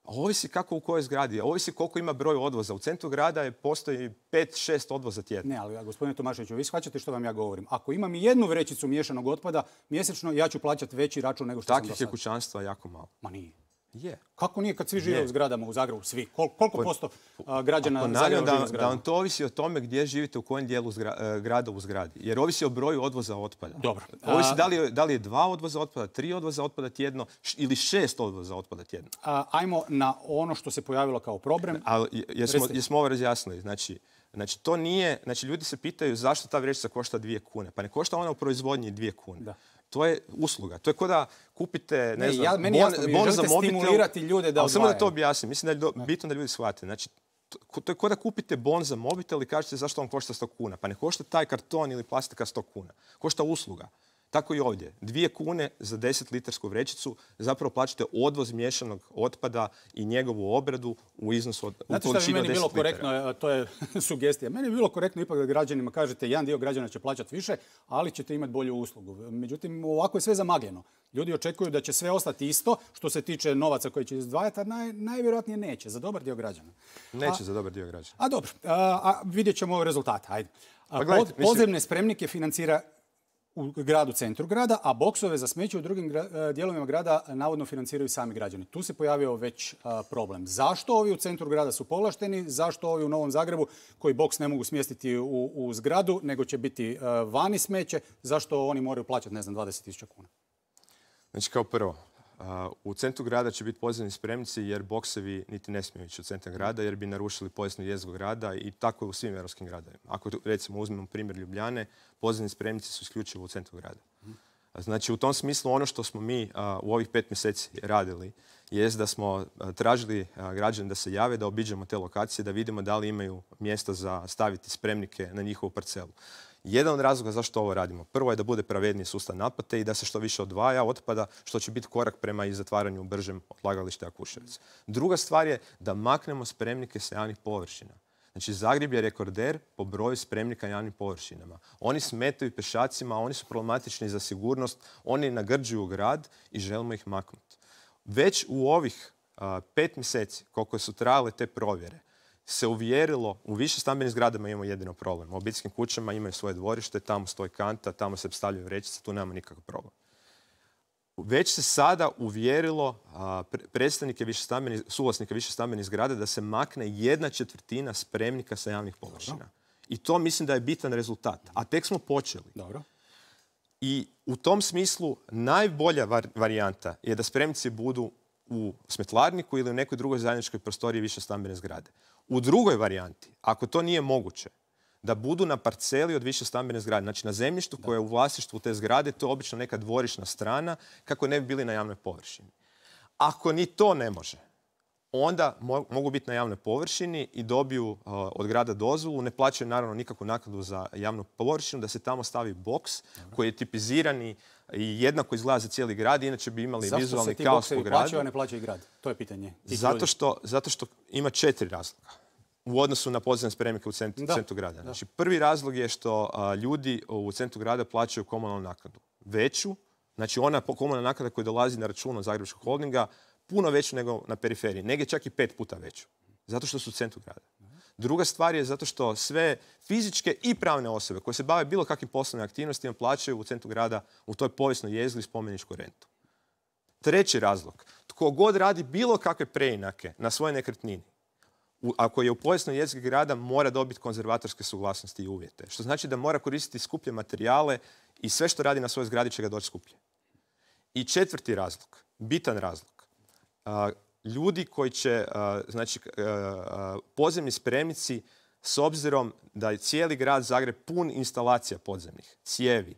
Ovisi kako u kojoj zgradi. Ovisi koliko ima broj odvoza. U centru grada je postoji pet šest odvoza tjedno. Ne, ali gospodine Tomaševiću, vi shvaćate što vam ja govorim. Ako imam i jednu vrećicu miješanog otpada, mjesečno ja ću plaćati veći račun nego što sam do sada. Takvih je kućanstva jako malo. Ma nije. Je. Kako nije kad svi žive u zgradama u Zagrebu? Svi. Kol, koliko po, posto a, građana Zagreba da, živi u zgradama? Da vam to ovisi o tome gdje živite, u kojem dijelu zgra, grada u zgradi. Jer ovisi o broju odvoza otpada. Dobro. Ovisi da li, je, da li je dva odvoza otpada, tri odvoza otpada tjedno ili šest odvoza otpada tjedno. A, ajmo na ono što se pojavilo kao problem. Ali jesmo, jesmo ovo razjasnili. Znači, Znači, to nije, znači, ljudi se pitaju zašto ta vrećica košta dvije kune. Pa ne košta ona u proizvodnji dvije kune. Da. To je usluga. To je kao da kupite, ne, ne znam, ja, meni bon, jasno, bon za mobitel. Stimulirati ljude da odvajaju. Samo da to objasnim. Mislim da je do, bitno da ljudi shvate. Znači, to, to je kao da kupite bon za mobitel i kažete zašto on košta sto kuna. Pa ne košta taj karton ili plastika sto kuna. Košta usluga. Tako i ovdje. Dvije kune za deset litarsku vrećicu zapravo plaćate odvoz miješanog otpada i njegovu obradu u iznosu od Znate što bi meni bilo korektno, to je sugestija. Meni bi bilo korektno ipak da građanima kažete jedan dio građana će plaćati više, ali ćete imati bolju uslugu. Međutim, ovako je sve zamagljeno. Ljudi očekuju da će sve ostati isto što se tiče novaca koji će izdvajati, a naj, najvjerojatnije neće za dobar dio građana. Neće a, za dobar dio građana. A dobro, a, a vidjet ćemo rezultate. Ajde. A, pa gledajte, pod, podzemne mislim... spremnike financira u gradu, centru grada, a boksove za smeće u drugim gra, dijelovima grada navodno financiraju sami građani. Tu se pojavio već a, problem. Zašto ovi u centru grada su povlašteni? Zašto ovi u Novom Zagrebu koji boks ne mogu smjestiti u, u zgradu, nego će biti a, vani smeće? Zašto oni moraju plaćati, ne znam, dvadeset tisuća kuna? Znači, kao prvo, u centru grada će biti podzemni spremnici jer boksevi niti ne smiju ići u centar grada jer bi narušili povijesnu jezgru grada i tako je u svim europskim gradovima. Ako recimo uzmemo primjer Ljubljane, podzemni spremnici su isključivo u centru grada. Znači u tom smislu ono što smo mi u ovih pet mjeseci radili jest da smo tražili građane da se jave, da obiđemo te lokacije, da vidimo da li imaju mjesta za staviti spremnike na njihovu parcelu. Jedan od razloga zašto ovo radimo. Prvo je da bude pravedniji sustav naplate i da se što više odvaja otpada, što će biti korak prema i zatvaranju bržem odlagališta Jakuševac. Druga stvar je da maknemo spremnike sa javnih površina. Znači, Zagreb je rekorder po broju spremnika na javnim površinama. Oni smetaju pešacima, oni su problematični za sigurnost, oni nagrđuju grad i želimo ih maknuti. Već u ovih a, pet mjeseci, koliko su trajale te provjere, se uvjerilo, u više stambenim zgradama imamo jedino problem. U obiteljskim kućama imaju svoje dvorište, tamo stoji kanta, tamo se stavljaju vrećice, tu nemamo nikakav problem. Već se sada uvjerilo a, predstavnike višestambenih, suvlasnika više stambenih zgrada da se makne jedna četvrtina spremnika sa javnih površina. Dobro. I to mislim da je bitan rezultat. A tek smo počeli. Dobro. I u tom smislu najbolja var, varijanta je da spremnici budu u smetlarniku ili u nekoj drugoj zajedničkoj prostoriji više stambene zgrade. U drugoj varijanti, ako to nije moguće, da budu na parceli od više stambene zgrade, znači na zemljištu koje je u vlasništvu te zgrade, to je obično neka dvorišna strana, kako ne bi bili na javnoj površini. Ako ni to ne može, onda mo- mogu biti na javnoj površini i dobiju uh, od grada dozvolu, ne plaćaju naravno nikakvu naknadu za javnu površinu, da se tamo stavi boks koji je tipizirani i jednako izgleda za cijeli grad, inače bi imali Zašto vizualni se kaos ti u gradu. plaćaju, a ne plaćaju grad? To je pitanje. Zato što, zato što ima četiri razloga u odnosu na podzemne spremnike u centru, centru grada. Znači, prvi razlog je što a, ljudi u centru grada plaćaju komunalnu naknadu. Veću, znači ona komunalna naknada koja dolazi na račun od Zagrebačkog holdinga, puno veću nego na periferiji. Negdje čak i pet puta veću. Zato što su u centru grada. Druga stvar je zato što sve fizičke i pravne osobe koje se bave bilo kakvim poslovnim aktivnostima plaćaju u centru grada u toj povijesnoj jezgri spomeničku rentu. Treći razlog. Tko god radi bilo kakve preinake na svojoj nekretnini, u, ako je u povijesnoj jezgri grada, mora dobiti konzervatorske suglasnosti i uvjete. Što znači da mora koristiti skuplje materijale i sve što radi na svojoj zgradi će ga doći skuplje. I četvrti razlog, bitan razlog. A, ljudi koji će, a, znači, a, podzemni spremnici, s obzirom da je cijeli grad Zagreb pun instalacija podzemnih, cijevi,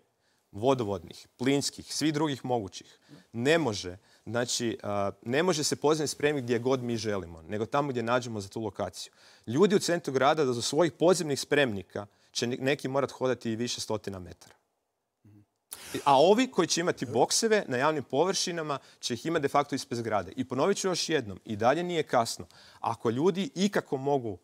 vodovodnih, plinskih, svih drugih mogućih, ne može, znači, ne može se podzemni spremnik gdje god mi želimo, nego tamo gdje nađemo za tu lokaciju. Ljudi u centru grada do svojih podzemnih spremnika će neki morati hodati i više stotina metara. A ovi koji će imati bokseve na javnim površinama će ih imati de facto ispred zgrade. I ponovit ću još jednom, i dalje nije kasno. Ako ljudi ikako mogu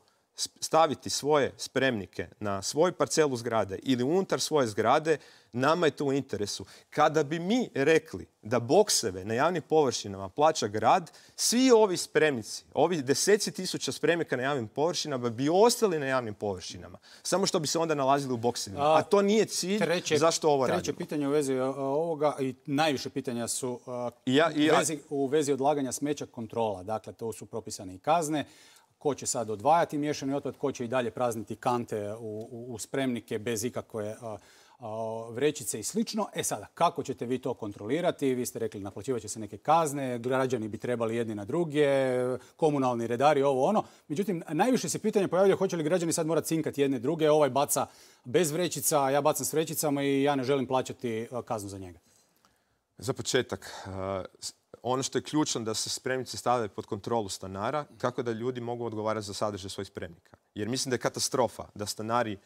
staviti svoje spremnike na svoju parcelu zgrade ili unutar svoje zgrade, nama je to u interesu. Kada bi mi rekli da bokseve na javnim površinama plaća grad, svi ovi spremnici, ovi deseci tisuća spremnika na javnim površinama bi ostali na javnim površinama. Samo što bi se onda nalazili u boksevima. A, A to nije cilj. Treće, zašto ovo radimo? Treće pitanje u vezi ovoga i najviše pitanja su a, ja, ja, u, vezi, u vezi odlaganja smeća kontrola. Dakle, to su propisane i kazne. Ko će sad odvajati miješani otpad, ko će i dalje prazniti kante u, u, u spremnike bez ikakve a, a, vrećice i slično. E sada, kako ćete vi to kontrolirati? Vi ste rekli naplaćivat će se neke kazne, građani bi trebali jedni na druge, komunalni redari, ovo ono. Međutim, najviše se pitanje pojavljaju hoće li građani sad morati cinkati jedne druge. Ovaj baca bez vrećica, ja bacam s vrećicama i ja ne želim plaćati kaznu za njega. Za početak, ono što je ključno da se spremnici stavljaju pod kontrolu stanara, kako da ljudi mogu odgovarati za sadržaj svojih spremnika. Jer mislim da je katastrofa da stanari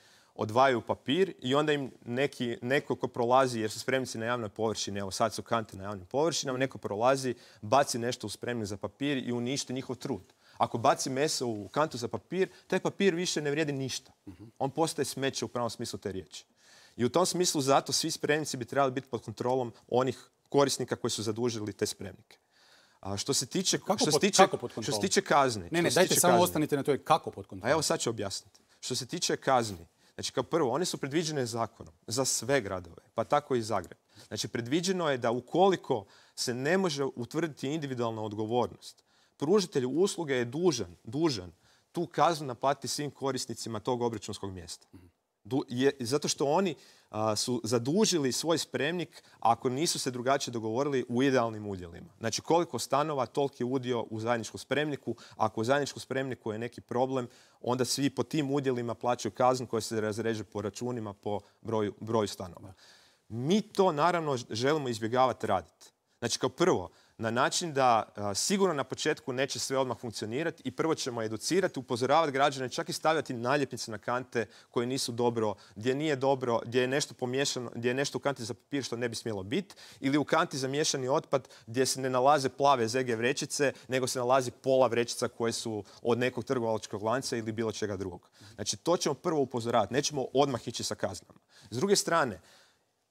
odvajaju papir i onda im neki, neko ko prolazi, jer su spremnici na javnoj površini, evo sad su kante na javnim površinama, neko prolazi, baci nešto u spremnik za papir i uništi njihov trud. Ako baci meso u kantu za papir, taj papir više ne vrijedi ništa. On postaje smeće u pravom smislu te riječi. I u tom smislu zato svi spremnici bi trebali biti pod kontrolom onih korisnika koji su zadužili te spremnike. A što se tiče, kako što se pod, tiče, kako pod što se tiče kazni... Ne, ne, dajte samo kazni. Ostanite na toj kako pod kontrolom. A evo sad ću objasniti. Što se tiče kazni, znači kao prvo, one su predviđene zakonom za sve gradove, pa tako i Zagreb. Znači predviđeno je da ukoliko se ne može utvrditi individualna odgovornost, pružatelj usluge je dužan, dužan tu kaznu naplatiti svim korisnicima tog obračunskog mjesta. Du, je, zato što oni a, su zadužili svoj spremnik ako nisu se drugačije dogovorili u idealnim udjelima. Znači koliko stanova, toliki udio u zajedničkom spremniku. Ako u zajedničkom spremniku je neki problem, onda svi po tim udjelima plaćaju kaznu koja se razreže po računima po broju, broju stanova. Mi to naravno želimo izbjegavati raditi. Znači kao prvo, na način da a, sigurno na početku neće sve odmah funkcionirati i prvo ćemo educirati, upozoravati građane, čak i stavljati naljepnice na kante koje nisu dobro, gdje nije dobro, gdje je nešto pomiješano, gdje je nešto u kanti za papir što ne bi smjelo biti, ili u kanti za miješani otpad gdje se ne nalaze plave Z G vrećice, nego se nalazi pola vrećica koje su od nekog trgovačkog lanca ili bilo čega drugog. Znači to ćemo prvo upozoravati, nećemo odmah ići sa kaznama. S druge strane,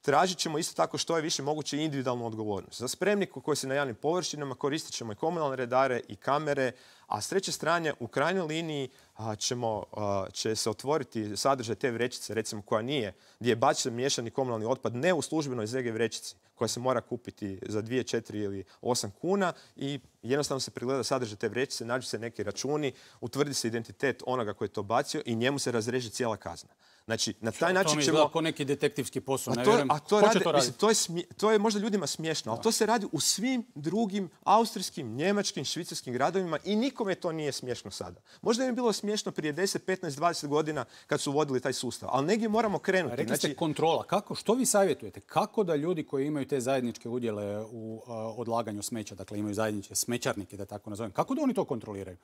tražit ćemo isto tako što je više moguće individualnu odgovornost. Za spremnik koji se na javnim površinama koristit ćemo i komunalne redare i kamere, a s treće strane u krajnjoj liniji a, ćemo, a, će se otvoriti sadržaj te vrećice, recimo koja nije, gdje je bačen miješani komunalni otpad ne u službenoj Z G vrećici koja se mora kupiti za dvije, četiri ili osam kuna i jednostavno se pregleda sadržaj te vrećice, nađu se neki računi, utvrdi se identitet onoga koji je to bacio i njemu se razreže cijela kazna. Znači, na taj način ćemo... To mi izgleda kao neki detektivski posao, ne to, vjerujem. A to, Ko radi, će to raditi? Mislim, to, je smije, to je možda ljudima smiješno, ali to se radi u svim drugim austrijskim, njemačkim, švicarskim gradovima i nikome to nije smiješno sada. Možda im je bilo smiješno prije deset, petnaest, dvadeset godina kad su vodili taj sustav, ali negdje moramo krenuti. Rekli ste znači... kontrola. Kako, što vi savjetujete? Kako da ljudi koji imaju te zajedničke udjele u uh, odlaganju smeća, dakle imaju zajedničke smećarnike, da tako nazovem, kako da oni to kontroliraju?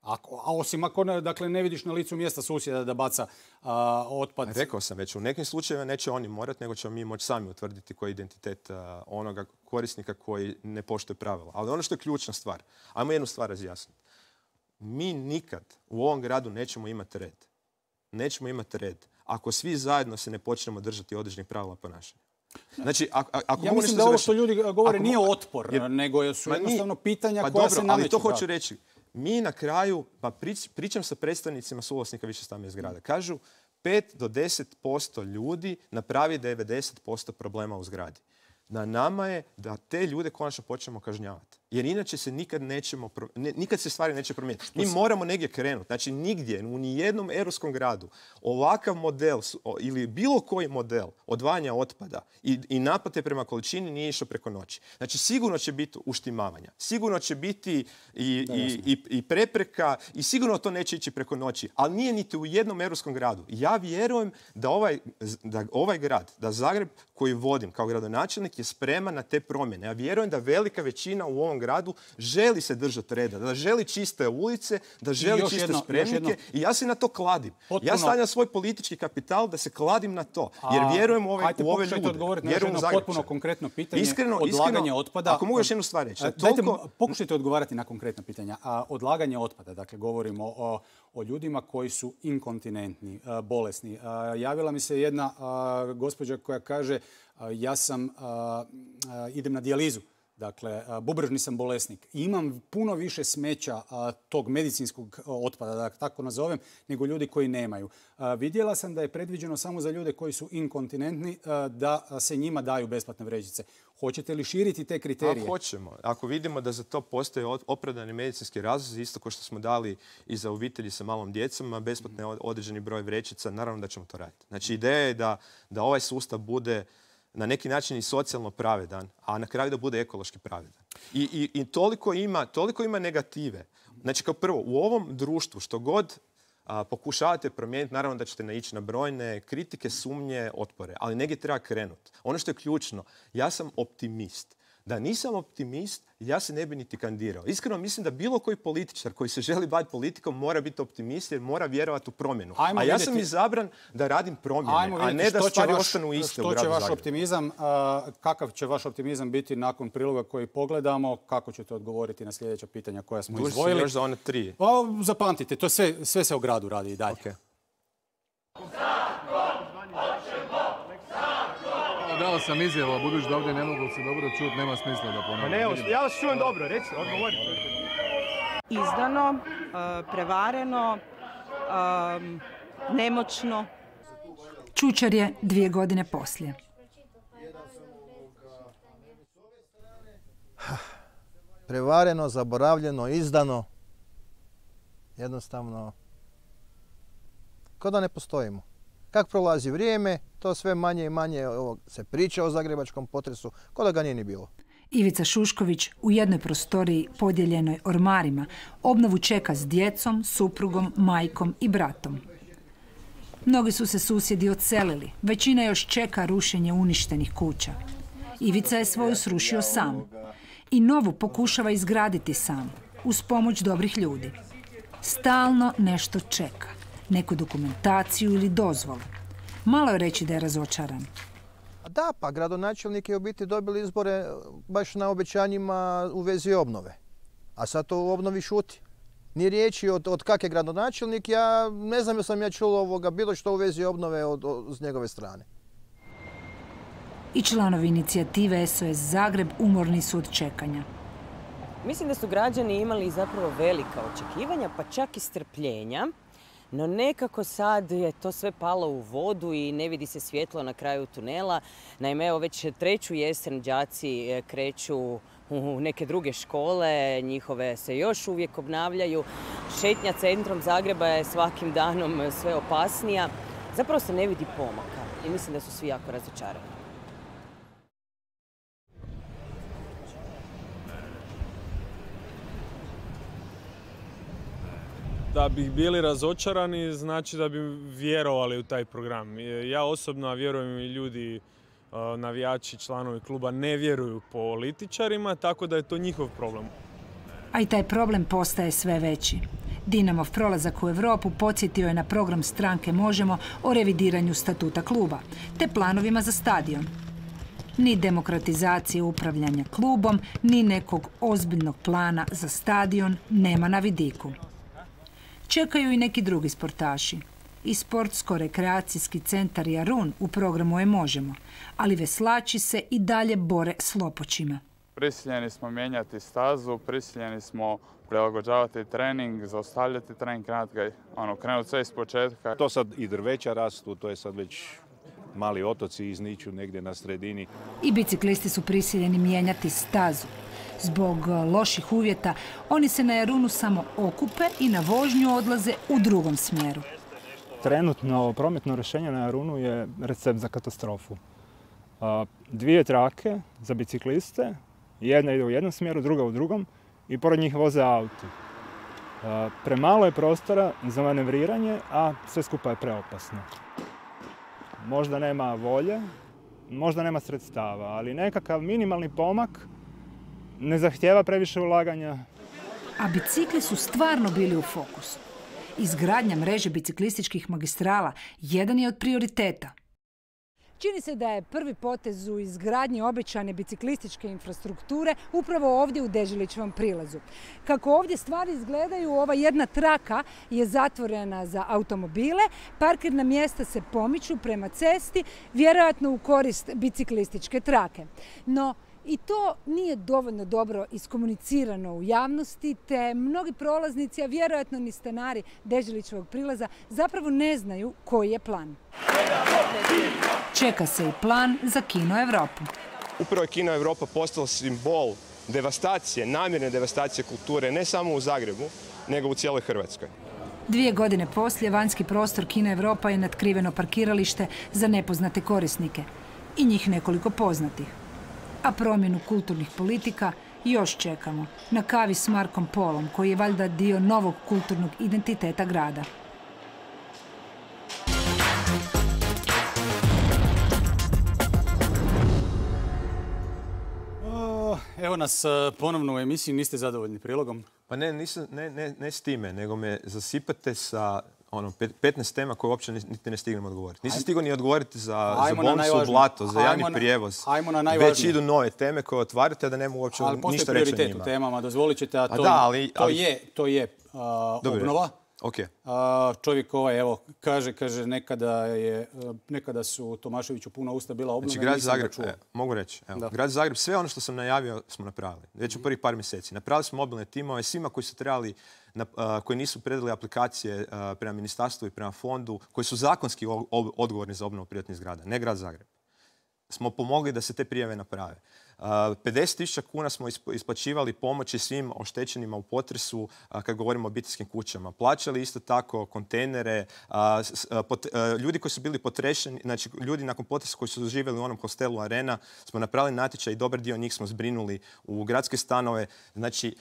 Ako, a osim ako ne, dakle, ne vidiš na licu mjesta susjeda da baca a, otpad. Rekao sam već, u nekim slučajevima neće oni morati, nego ćemo mi moći sami utvrditi koji je identitet a, onoga korisnika koji ne poštuje pravila. Ali ono što je ključna stvar, ajmo jednu stvar razjasniti. Mi nikad u ovom gradu nećemo imati red. Nećemo imati red ako svi zajedno se ne počnemo držati određenih pravila ponašanja. Znači, ako, ako ja mislim da ovo što ljudi govore nije otpor, jer, nego su jednostavno nije, pitanja pa koja dobro, se nameću. Ali to hoću reći. Mi na kraju, pa prič, pričam sa predstavnicima suvlasnika višestambenih zgrada, kažu pet do deset posto ljudi napravi devedeset posto problema u zgradi. Na nama je da te ljude konačno počnemo kažnjavati. Jer inače se nikad nećemo, ne, nikad se stvari neće promijeniti. Mi moramo negdje krenuti. Znači nigdje, u nijednom europskom gradu ovakav model ili bilo koji model odvajanja otpada i, i naplate prema količini nije išao preko noći. Znači sigurno će biti uštimavanja. Sigurno će biti i, da, i, i, i prepreka i sigurno to neće ići preko noći. Ali nije niti u jednom europskom gradu. Ja vjerujem da ovaj, da ovaj grad, da Zagreb koji vodim kao gradonačelnik je spreman na te promjene. Ja vjerujem da velika većina u ovom gradu želi se držati reda, da želi čiste ulice, da želi čiste jedno, spremnike i ja se na to kladim. Potpuno. Ja stavljam svoj politički kapital da se kladim na to, jer vjerujem u ove, ajte, u ove ljude. Odgovoriti na jedno potpuno konkretno pitanje, iskreno, odlaganje iskreno, otpada. Ako mogu još jednu stvar reći. Dajte, toliko... pokušajte odgovarati na konkretna pitanja. A, odlaganje otpada, dakle govorimo o, o ljudima koji su inkontinentni, a, bolesni. A, javila mi se jedna a, gospođa koja kaže a, ja sam, a, a, idem na dijalizu. Dakle, bubrežni sam bolesnik. Imam puno više smeća a, tog medicinskog otpada, da tako nazovem, nego ljudi koji nemaju. A, vidjela sam da je predviđeno samo za ljude koji su inkontinentni a, da se njima daju besplatne vrećice. Hoćete li širiti te kriterije? Ako hoćemo. Ako vidimo da za to postoje opravdani medicinski razlozi, isto kao što smo dali i za obitelji sa malom djecom, besplatne određeni broj vrećica, naravno da ćemo to raditi. Znači, ideja je da, da ovaj sustav bude na neki način i socijalno pravedan, a na kraju da bude ekološki pravedan. I, i, i toliko, ima, toliko ima negative. Znači, kao prvo, u ovom društvu što god a, pokušavate promijeniti, naravno da ćete naići na brojne kritike, sumnje, otpore, ali negdje treba krenuti. Ono što je ključno, ja sam optimist Da nisam optimist, ja se ne bi niti kandidirao. Iskreno mislim da bilo koji političar koji se želi baviti politikom mora biti optimist jer mora vjerovati u promjenu. Ajmo a ja vidjeti... sam izabran da radim promjene, a ne da stvari vaš, ostanu iste u gradu Zagrebu. Što će vaš optimizam, uh, kakav će vaš optimizam biti nakon priloga koji pogledamo? Kako ćete odgovoriti na sljedeća pitanja koja smo Duži izdvojili? Još za one tri. Pa, zapamtite, to sve, sve se u gradu radi i dalje. Okay. Dao sam izjavu, budući da ovdje ne mogu se dobro čuti, nema smisla da ponavljam. Pa ne, ja vas čujem dobro, reci, odgovorite. Izdano, prevareno, nemoćno. Čučar je dvije godine poslije. Prevareno, zaboravljeno, izdano. Jednostavno, kao da ne postojimo. Kako prolazi vrijeme, to sve manje i manje se priča o zagrebačkom potresu, kao da ga nije ni bilo. Ivica Šušković u jednoj prostoriji podijeljenoj ormarima obnovu čeka s djecom, suprugom, majkom i bratom. Mnogi su se susjedi odselili, većina još čeka rušenje uništenih kuća. Ivica je svoju srušio sam i novu pokušava izgraditi sam, uz pomoć dobrih ljudi. Stalno nešto čeka, neku dokumentaciju ili dozvolu. Malo je reći da je razočaran. Da, pa gradonačelnik je u biti dobili izbore baš na obećanjima u vezi obnove. A sad to u obnovi šuti. Nije riječi od, od kak je gradonačelnik, ja ne znam da sam ja čuo ovoga bilo što u vezi obnove od, od, s njegove strane. I članovi inicijative S O S Zagreb umorni su od čekanja. Mislim da su građani imali zapravo velika očekivanja, pa čak i strpljenja. No nekako sad je to sve palo u vodu i ne vidi se svjetlo na kraju tunela. Naime, evo već treću jesen đaci kreću u neke druge škole, njihove se još uvijek obnavljaju. Šetnja centrom Zagreba je svakim danom sve opasnija. Zapravo se ne vidi pomaka i mislim da su svi jako razočarani. Da bi bili razočarani znači da bi vjerovali u taj program. Ja osobno, a vjerujem i ljudi, navijači, članovi kluba ne vjeruju političarima, tako da je to njihov problem. A i taj problem postaje sve veći. Dinamov prolazak u Europu podsjetio je na program stranke Možemo o revidiranju statuta kluba, te planovima za stadion. Ni demokratizacije upravljanja klubom, ni nekog ozbiljnog plana za stadion nema na vidiku. Čekaju i neki drugi sportaši. I sportsko-rekreacijski centar Jarun u programu je Možemo, ali veslači se i dalje bore s lopoćima. Prisiljeni smo mijenjati stazu, prisiljeni smo prilagođavati trening, zaustavljati trening, ono, krenuti sve iz početka. To sad i drveća rastu, to je sad već mali otoci izniču negdje na sredini. I biciklisti su prisiljeni mijenjati stazu. Zbog loših uvjeta, oni se na Jarunu samo okupe i na vožnju odlaze u drugom smjeru. Trenutno prometno rješenje na Jarunu je recept za katastrofu. Dvije trake za bicikliste, jedna ide u jednom smjeru, druga u drugom i pored njih voze auti. Premalo je prostora za manevriranje, a sve skupa je preopasno. Možda nema volje, možda nema sredstava, ali nekakav minimalni pomak ne zahtijeva previše ulaganja. A bicikli su stvarno bili u fokusu. Izgradnja mreže biciklističkih magistrala jedan je od prioriteta. Čini se da je prvi potez u izgradnji obećane biciklističke infrastrukture upravo ovdje u Deželićevom prilazu. Kako ovdje stvari izgledaju, ova jedna traka je zatvorena za automobile, parkirna mjesta se pomiču prema cesti, vjerojatno u korist biciklističke trake. No, i to nije dovoljno dobro iskomunicirano u javnosti, te mnogi prolaznici, a vjerojatno ni stanari Deželićevog prilaza, zapravo ne znaju koji je plan. Čeka se i plan za Kino Europu. Upravo je Kino Europa postala simbol devastacije, namjerne devastacije kulture, ne samo u Zagrebu, nego u cijeloj Hrvatskoj. Dvije godine poslije vanjski prostor Kino Europa je natkriveno parkiralište za nepoznate korisnike i njih nekoliko poznatih. A promjenu kulturnih politika još čekamo na kavi s Markom Polom, koji je valjda dio novog kulturnog identiteta grada. evo nas ponovno u emisiji. Niste zadovoljni prilogom? Pa ne, nisam, ne, ne, ne s time, nego me zasipate sa ono, petnaest tema koje uopće niti ne stignem odgovoriti. Nisam stigao ni odgovoriti za, za bolnicu, blato, za javni ajmo prijevoz. Ajmo na najvažnije. Već idu nove teme koje otvarate, a da nema uopće ništa reći o njima. Ali postoji prioritet u temama, dozvolit ćete, a to, a da, ali, to ali... je, to je uh, obnova. Okay. A, čovjek ovaj, evo, kaže, kaže nekada, je, nekada su Tomaševiću puna usta bila obnove. Znači, grad Zagreb, e, mogu reći, evo, grad Zagreb, sve ono što sam najavio smo napravili. Već u prvih par mjeseci. Napravili smo mobilne timove svima koji su trebali, na, a, koji nisu predali aplikacije a, prema ministarstvu i prema fondu, koji su zakonski odgovorni za obnovu privatnih zgrada, ne grad Zagreb. Smo pomogli da se te prijave naprave. pedeset tisuća kuna smo isplaćivali pomoći svim oštećenima u potresu kad govorimo o obiteljskim kućama. Plaćali isto tako kontejnere, ljudi koji su bili potrešeni, znači ljudi nakon potresa koji su živjeli u onom hostelu Arena, smo napravili natječaj i dobar dio njih smo zbrinuli u gradske stanove. Znači,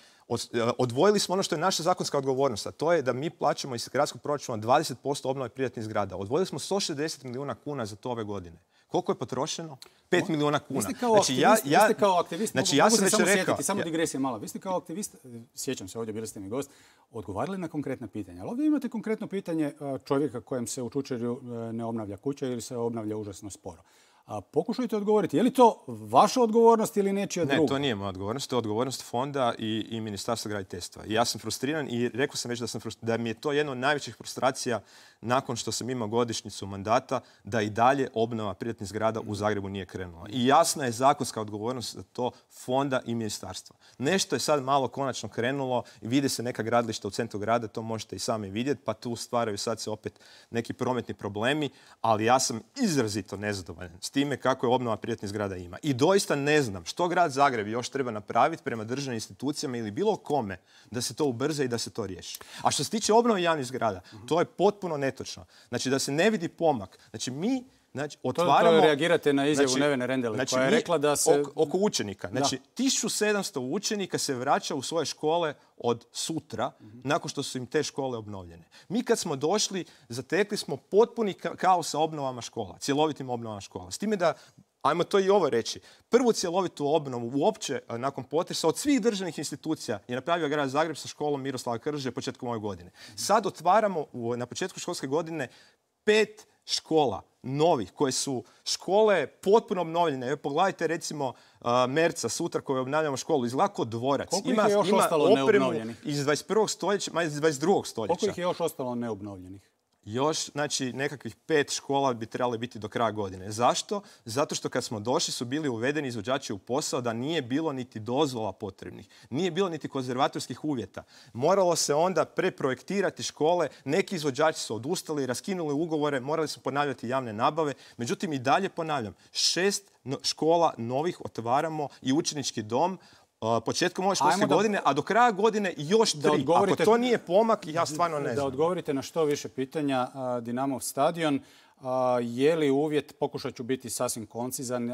odvojili smo ono što je naša zakonska odgovornost, a to je da mi plaćamo iz gradskog proračuna dvadeset posto obnove privatnih zgrada. Odvojili smo sto šezdeset milijuna kuna za to ove godine. Koliko je potrošeno? pet milijuna kuna. Vi ste kao znači, aktivist, ja, ja, vi ste kao aktivist znači, mogu, ja mogu sam se samo rekao, sjetiti, samo ja, digresija mala. Vi ste kao aktivist, sjećam se ovdje, bili ste mi gost, odgovarali na konkretna pitanja. Ali ovdje imate konkretno pitanje čovjeka kojem se u Čučerju ne obnavlja kuća ili se obnavlja užasno sporo. A pokušajte odgovoriti, je li to vaša odgovornost ili nečija druga? Ne, to nije moja odgovornost, to je odgovornost fonda i, i Ministarstva graditeljstva. I ja sam frustriran i rekao sam već da, sam da mi je to jedna od najvećih frustracija nakon što sam imao godišnjicu mandata, da i dalje obnova privatnih zgrada u Zagrebu nije krenula. I jasna je zakonska odgovornost za to fonda i ministarstva. Nešto je sad malo konačno krenulo i vide se neka gradilišta u centru grada, to možete i sami vidjeti, pa tu stvaraju sad se opet neki prometni problemi, ali ja sam izrazito nezadovoljan s time kako je obnova privatnih zgrada ima. I doista ne znam što grad Zagreb još treba napraviti prema državnim institucijama ili bilo kome da se to ubrza i da se to riješi. A što se tiče obnove javnih zgrada, to je potpuno netočno. Znači da se ne vidi pomak. Znači mi znači, otvaramo... To, to reagirate na izjavu znači, Nevene Rendele znači, koja je rekla da se... Oko, oko učenika. Znači da. tisuću sedamsto učenika se vraća u svoje škole od sutra, mm-hmm. nakon što su im te škole obnovljene. Mi kad smo došli, zatekli smo potpuni kaos sa obnovama škola, cjelovitim obnovama škola. S time da, ajmo to i ovo reći, prvu cjelovitu obnovu uopće nakon potresa od svih državnih institucija je napravio grad Zagreb sa školom Miroslava Krže početkom ove godine. Sad otvaramo u, na početku školske godine pet škola novih, koje su škole potpuno obnovljene. Evo, pogledajte recimo uh, Merca sutra koju obnavljamo školu, izgleda kao dvorac. Koliko ima, ih je još ima ostalo neobnovljenih? Iz dvadeset prvog stoljeća, ma iz dvadeset drugog stoljeća. Koliko ih je još ostalo neobnovljenih? Još, znači, nekakvih pet škola bi trebali biti do kraja godine. Zašto? Zato što kad smo došli su bili uvedeni izvođači u posao da nije bilo niti dozvola potrebnih. Nije bilo niti konzervatorskih uvjeta. Moralo se onda preprojektirati škole. Neki izvođači su odustali, raskinuli ugovore, morali su ponavljati javne nabave. Međutim, i dalje ponavljam, šest škola novih otvaramo i učenički dom početkom ove školske da, godine, a do kraja godine još tri. Ako to nije pomak, ja stvarno ne znam. Da odgovorite na što više pitanja. Dinamov stadion, je li uvjet, pokušat ću biti sasvim koncizan,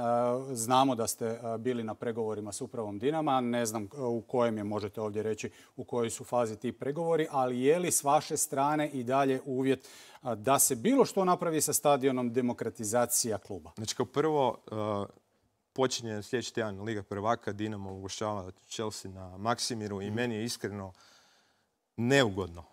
znamo da ste bili na pregovorima s upravom Dinama, ne znam u kojem je, možete ovdje reći, u kojoj su fazi ti pregovori, ali je li s vaše strane i dalje uvjet da se bilo što napravi sa stadionom demokratizacija kluba? Znači, kao prvo, počinje sljedeći tjedan Liga prvaka, Dinamo ugošćava Chelsea na Maksimiru i meni je iskreno neugodno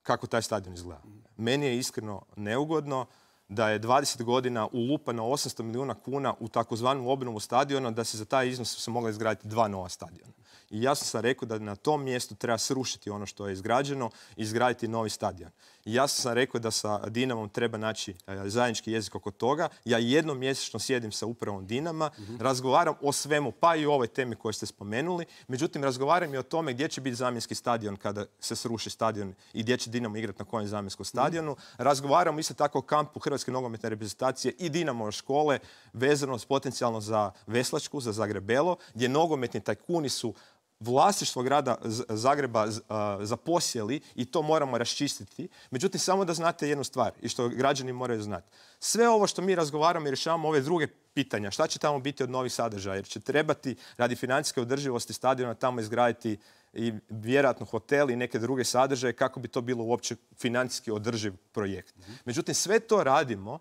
kako taj stadion izgleda. Meni je iskreno neugodno da je dvadeset godina ulupano osamsto milijuna kuna u takozvanu obnovu stadiona, da se za taj iznos se mogla izgraditi dva nova stadiona. I jasno sam rekao da na tom mjestu treba srušiti ono što je izgrađeno i izgraditi novi stadion. I jasno sam rekao da sa Dinamom treba naći zajednički jezik oko toga. Ja jednom mjesečno sjedim sa upravom Dinama, mm-hmm. razgovaram o svemu, pa i o ovoj temi koju ste spomenuli. Međutim, razgovaram i o tome gdje će biti zamjenski stadion kada se sruši stadion i gdje će Dinamo igrati na kojem zamjenskom stadionu. Mm-hmm. Razgovaram isto tako o kampu Hrvatske nogometne reprezentacije i Dinamo škole vezano potencijalno za Veslačku, za Zagrebelo, gdje nogometni tajkuni su vlasništvo grada Zagreba zaposjeli i to moramo raščistiti. Međutim, samo da znate jednu stvar i što građani moraju znati. Sve ovo što mi razgovaramo i rješavamo ove druge pitanja, šta će tamo biti od novih sadržaja, jer će trebati radi financijske održivosti stadiona tamo izgraditi i vjerojatno hotel i neke druge sadržaje kako bi to bilo uopće financijski održiv projekt. Međutim, sve to radimo,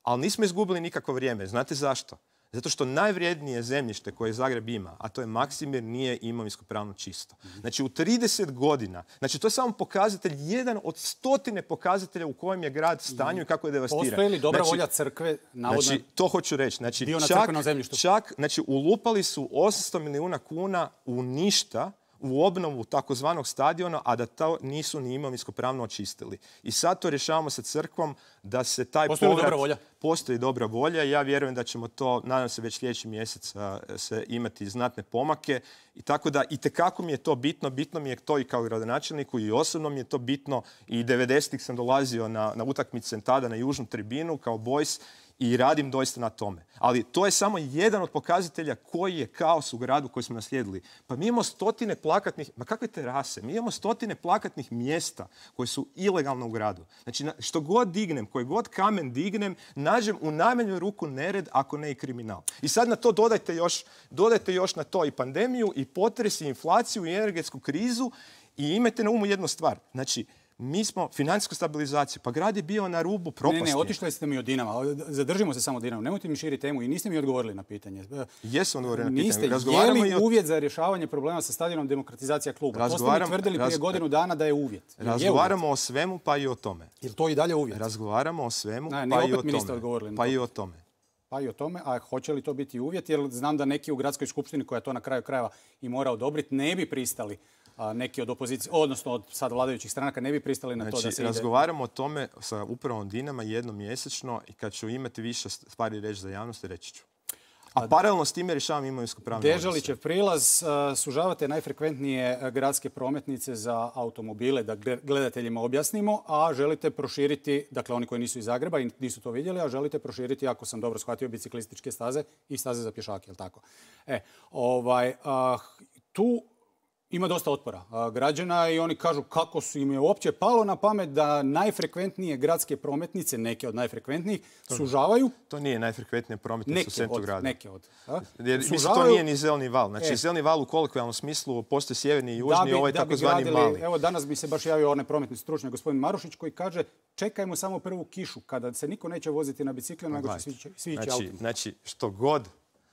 ali nismo izgubili nikakvo vrijeme. Znate zašto? Zato što najvrijednije zemljište koje Zagreb ima, a to je Maksimir, nije imovinsko pravno čisto. Znači u trideset godina, znači to je samo pokazatelj, jedan od stotine pokazatelja u kojem je grad stanju i kako je devastiran. Postoji li dobra znači, volja crkve, navodno znači, to hoću reći. Znači, dio na čak, crkvenom zemljištu? Čak, znači, ulupali su osamsto milijuna kuna u ništa, u obnovu takozvanog stadiona, a da to nisu ni imovinsko pravno očistili. I sad to rješavamo sa crkvom da se taj Postoji povrat... dobra volja? Postoji dobra volja i ja vjerujem da ćemo to, nadam se, već sljedeći mjesec se imati znatne pomake. I tako da itekako mi je to bitno, bitno mi je to i kao gradonačelniku i osobno mi je to bitno. I devedesetih sam dolazio na, na utakmice tada na južnu tribinu kao Boys i radim doista na tome. Ali to je samo jedan od pokazatelja koji je kaos u gradu koji smo naslijedili. Pa mi imamo stotine plakatnih, ma kakve terase, mi imamo stotine plakatnih mjesta koji su ilegalno u gradu. Znači što god dignem, koji god kamen dignem, nađem u najmanju ruku nered, ako ne i kriminal. I sad na to dodajte još, dodajte još na to i pandemiju, i potres, i inflaciju, i energetsku krizu i imajte na umu jednu stvar. Znači, mi smo financijsku stabilizaciju, pa grad je bio na rubu propasti. Ne, ne, otišli ste mi od Dinama. Zadržimo se samo Dinama. Nemojte mi širiti temu i niste mi odgovorili na pitanje. Jesam odgovorili na pitanje. Niste. Je li uvjet za rješavanje problema sa stadionom demokratizacija kluba? To ste mi tvrdili prije godinu dana da je uvjet. Razgovaramo o svemu, pa i o tome. Je li to i dalje uvjet? Razgovaramo o svemu, ne, pa i o opet mi niste odgovorili na pa to. i o tome. Pa i o tome, a hoće li to biti uvjet? Jer znam da neki u gradskoj skupštini, koja to na kraju krajeva i mora odobriti, ne bi pristali, a neki od opozicije, odnosno od sad vladajućih stranaka, ne bi pristali na znači, to da se razgovaramo ide... o tome sa upravom Dinama jednom mjesečno i kad ću imati više stvari reći za javnost, reći ću. A paralelno s time rješavam imovinsko pravno odnose. Deželićev prilaz, sužavate najfrekventnije gradske prometnice za automobile, da gledateljima objasnimo, a želite proširiti, dakle oni koji nisu iz Zagreba i nisu to vidjeli, a želite proširiti, ako sam dobro shvatio, biciklističke staze i staze za pješake, je li tako? E, ovaj, a, tu ima dosta otpora građana i oni kažu kako su im je uopće palo na pamet da najfrekventnije gradske prometnice, neke od najfrekventnijih, sužavaju. To nije najfrekventnije prometnice u centru grada. Neke od. Jer, mislim, to nije ni zeleni val. Znači, e. zeleni val u kolokvijalnom smislu postoji sjeverni i južni, ovaj takozvani mali. Evo, danas bi se baš javio onaj prometni stručnjak, gospodin Marušić, koji kaže čekajmo samo prvu kišu, kada se niko neće voziti na biciklima, nego će svi ići znači, autom. Znači, što god.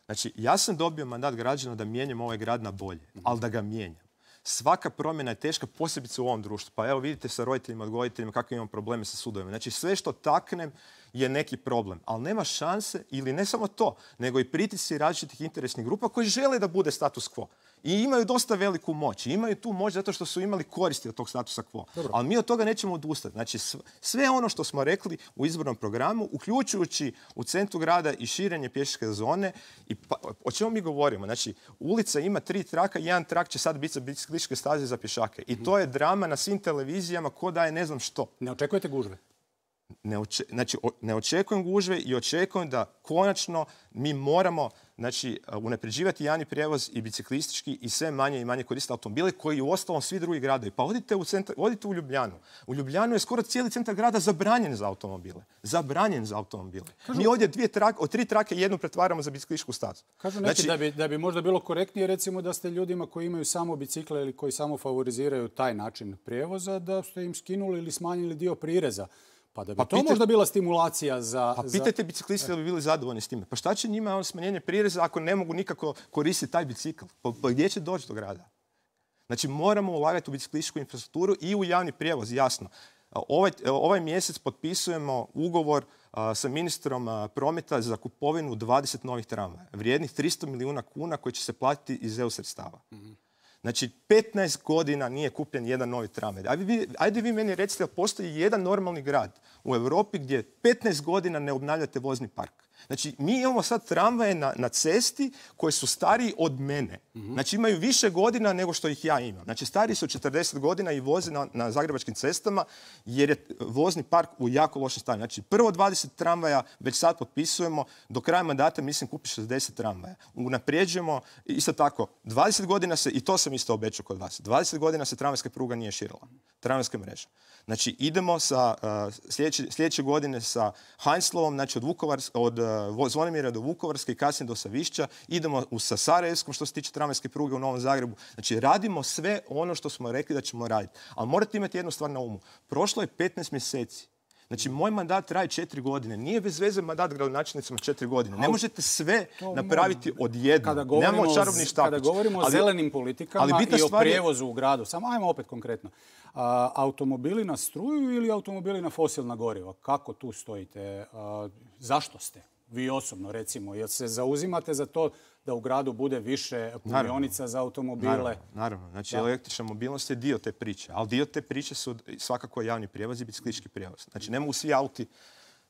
Znači, ja sam dobio mandat građana da mijenjam ovaj grad na bolje, mm-hmm. ali da ga mijenjam. Svaka promjena je teška, posebice u ovom društvu. Pa evo vidite sa roditeljima, odgojiteljima kakve imamo probleme sa sudovima. Znači sve što taknem je neki problem. Ali nema šanse, ili ne samo to, nego i pritisci različitih interesnih grupa koji žele da bude status quo. I imaju dosta veliku moć. I imaju tu moć zato što su imali koristi od tog statusa quo. Dobro. Ali mi od toga nećemo odustati. Znači sve ono što smo rekli u izbornom programu, uključujući u centru grada i širenje pješačke zone, i pa, o čemu mi govorimo? Znači, ulica ima tri traka, jedan trak će sad biti za biciklističke staze za pješake. I to je drama na svim televizijama ko da je ne znam što. Ne očekujete gužve? Ne, oče, znači, o, ne očekujem gužve i očekujem da konačno mi moramo znači, unapređivati javni prijevoz i biciklistički i sve manje i manje koristiti automobile koji u ostalom svi drugi gradovi. Pa odite u, centar, odite u Ljubljanu. U Ljubljanu je skoro cijeli centar grada zabranjen za automobile. Zabranjen za automobile. Kažu, mi ovdje dvije trake, od tri trake jednu pretvaramo za biciklističku stazu. Kažu neki znači, da, bi, da bi možda bilo korektnije recimo da ste ljudima koji imaju samo bicikle ili koji samo favoriziraju taj način prijevoza, da ste im skinuli ili smanjili dio prireza. Pa da bi pa to pitaj, možda bila stimulacija za... Pa pitajte za... biciklisti da bi bili zadovoljni s time. Pa šta će njima on smanjenje prireza ako ne mogu nikako koristiti taj bicikl? Pa, pa gdje će doći do grada? Znači moramo ulagati u biciklističku infrastrukturu i u javni prijevoz, jasno. Ovaj, ovaj mjesec potpisujemo ugovor a, sa ministrom a, prometa za kupovinu dvadeset novih tramvaja, vrijednih tristo milijuna kuna koji će se platiti iz E U sredstava. Mm-hmm. Znači, petnaest godina nije kupljen jedan novi tramvaj. Ajde vi, ajde vi meni recite da postoji jedan normalni grad u Europi gdje petnaest godina ne obnavljate vozni park. Znači, mi imamo sad tramvaje na, na cesti koji su stariji od mene. Mm-hmm. Znači, imaju više godina nego što ih ja imam. Znači, stariji su četrdeset godina i voze na, na zagrebačkim cestama jer je vozni park u jako lošem stanju. Znači, prvo dvadeset tramvaja već sad potpisujemo. Do kraja mandata, mislim, kupi šezdeset tramvaja. Unaprijeđujemo, isto tako, dvadeset godina se, i to sam isto obećao kod vas, dvadeset godina se tramvajska pruga nije širila. Tramvajska mreža. Znači, idemo sa, uh, sljedeće, sljedeće godine sa Heinzlovom, znači od, Vukovars, od uh, Zvonimira do Vukovarske i kasnije do Savišća. Idemo u, sa Sarajevskom što se tiče tramvajske pruge u Novom Zagrebu. Znači, radimo sve ono što smo rekli da ćemo raditi. Ali morate imati jednu stvar na umu. Prošlo je petnaest mjeseci. Znači, moj mandat traje četiri godine. Nije bez veze mandat gradonačelnicima četiri godine. Ne možete sve napraviti odjednom. Nemamo čarobni štapić. Kada govorimo o zelenim politikama i o prijevozu u gradu, samo ajmo opet konkretno. A, automobili na struju ili automobili na fosilna goriva? Kako tu stojite? A, zašto ste? Vi osobno, recimo, jel se zauzimate za to da u gradu bude više punionica za automobile? Naravno, naravno. Znači, da. Električna mobilnost je dio te priče, ali dio te priče su svakako javni prijevoz i biciklistički prijevoz. Znači, ne mogu svi auti...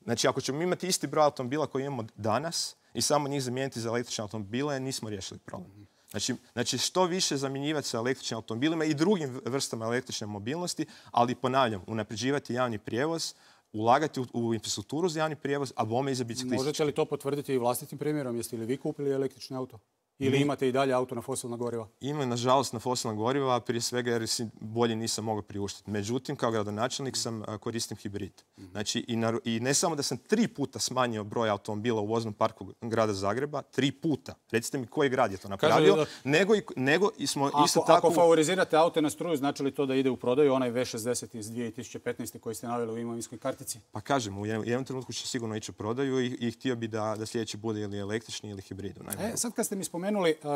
Znači, ako ćemo imati isti broj automobila koji imamo danas i samo njih zamijeniti za električne automobile, nismo riješili problem. Znači, znači što više zamjenjivati sa električnim automobilima i drugim vrstama električne mobilnosti, ali ponavljam, unapređivati javni prijevoz, ulagati u, u infrastrukturu za javni prijevoz, a bome i za biciklistički. Možete li to potvrditi i vlastitim primjerom? Jeste li vi kupili električni auto? Ili imate i dalje auto na fosilna goriva? Imam, nažalost, na fosilna goriva, prije svega jer si bolje nisam mogao priuštiti. Međutim, kao gradonačelnik sam koristim hibrid. Znači, i, na, i ne samo da sam tri puta smanjio broj automobila u voznom parku grada Zagreba, tri puta. Recite mi koji grad je to napravio, da... nego, i, nego i smo ako, isto tako... Ako favorizirate aute na struju, znači li to da ide u prodaju onaj V šezdeset iz dvije tisuće petnaeste koji ste naveli u imovinskoj kartici? Pa kažem, u jednom, jednom trenutku će sigurno ići u prodaju i, i htio bi da, da sljedeći bude ili električni ili hibridu. E, sad kad ste mi spomenuli,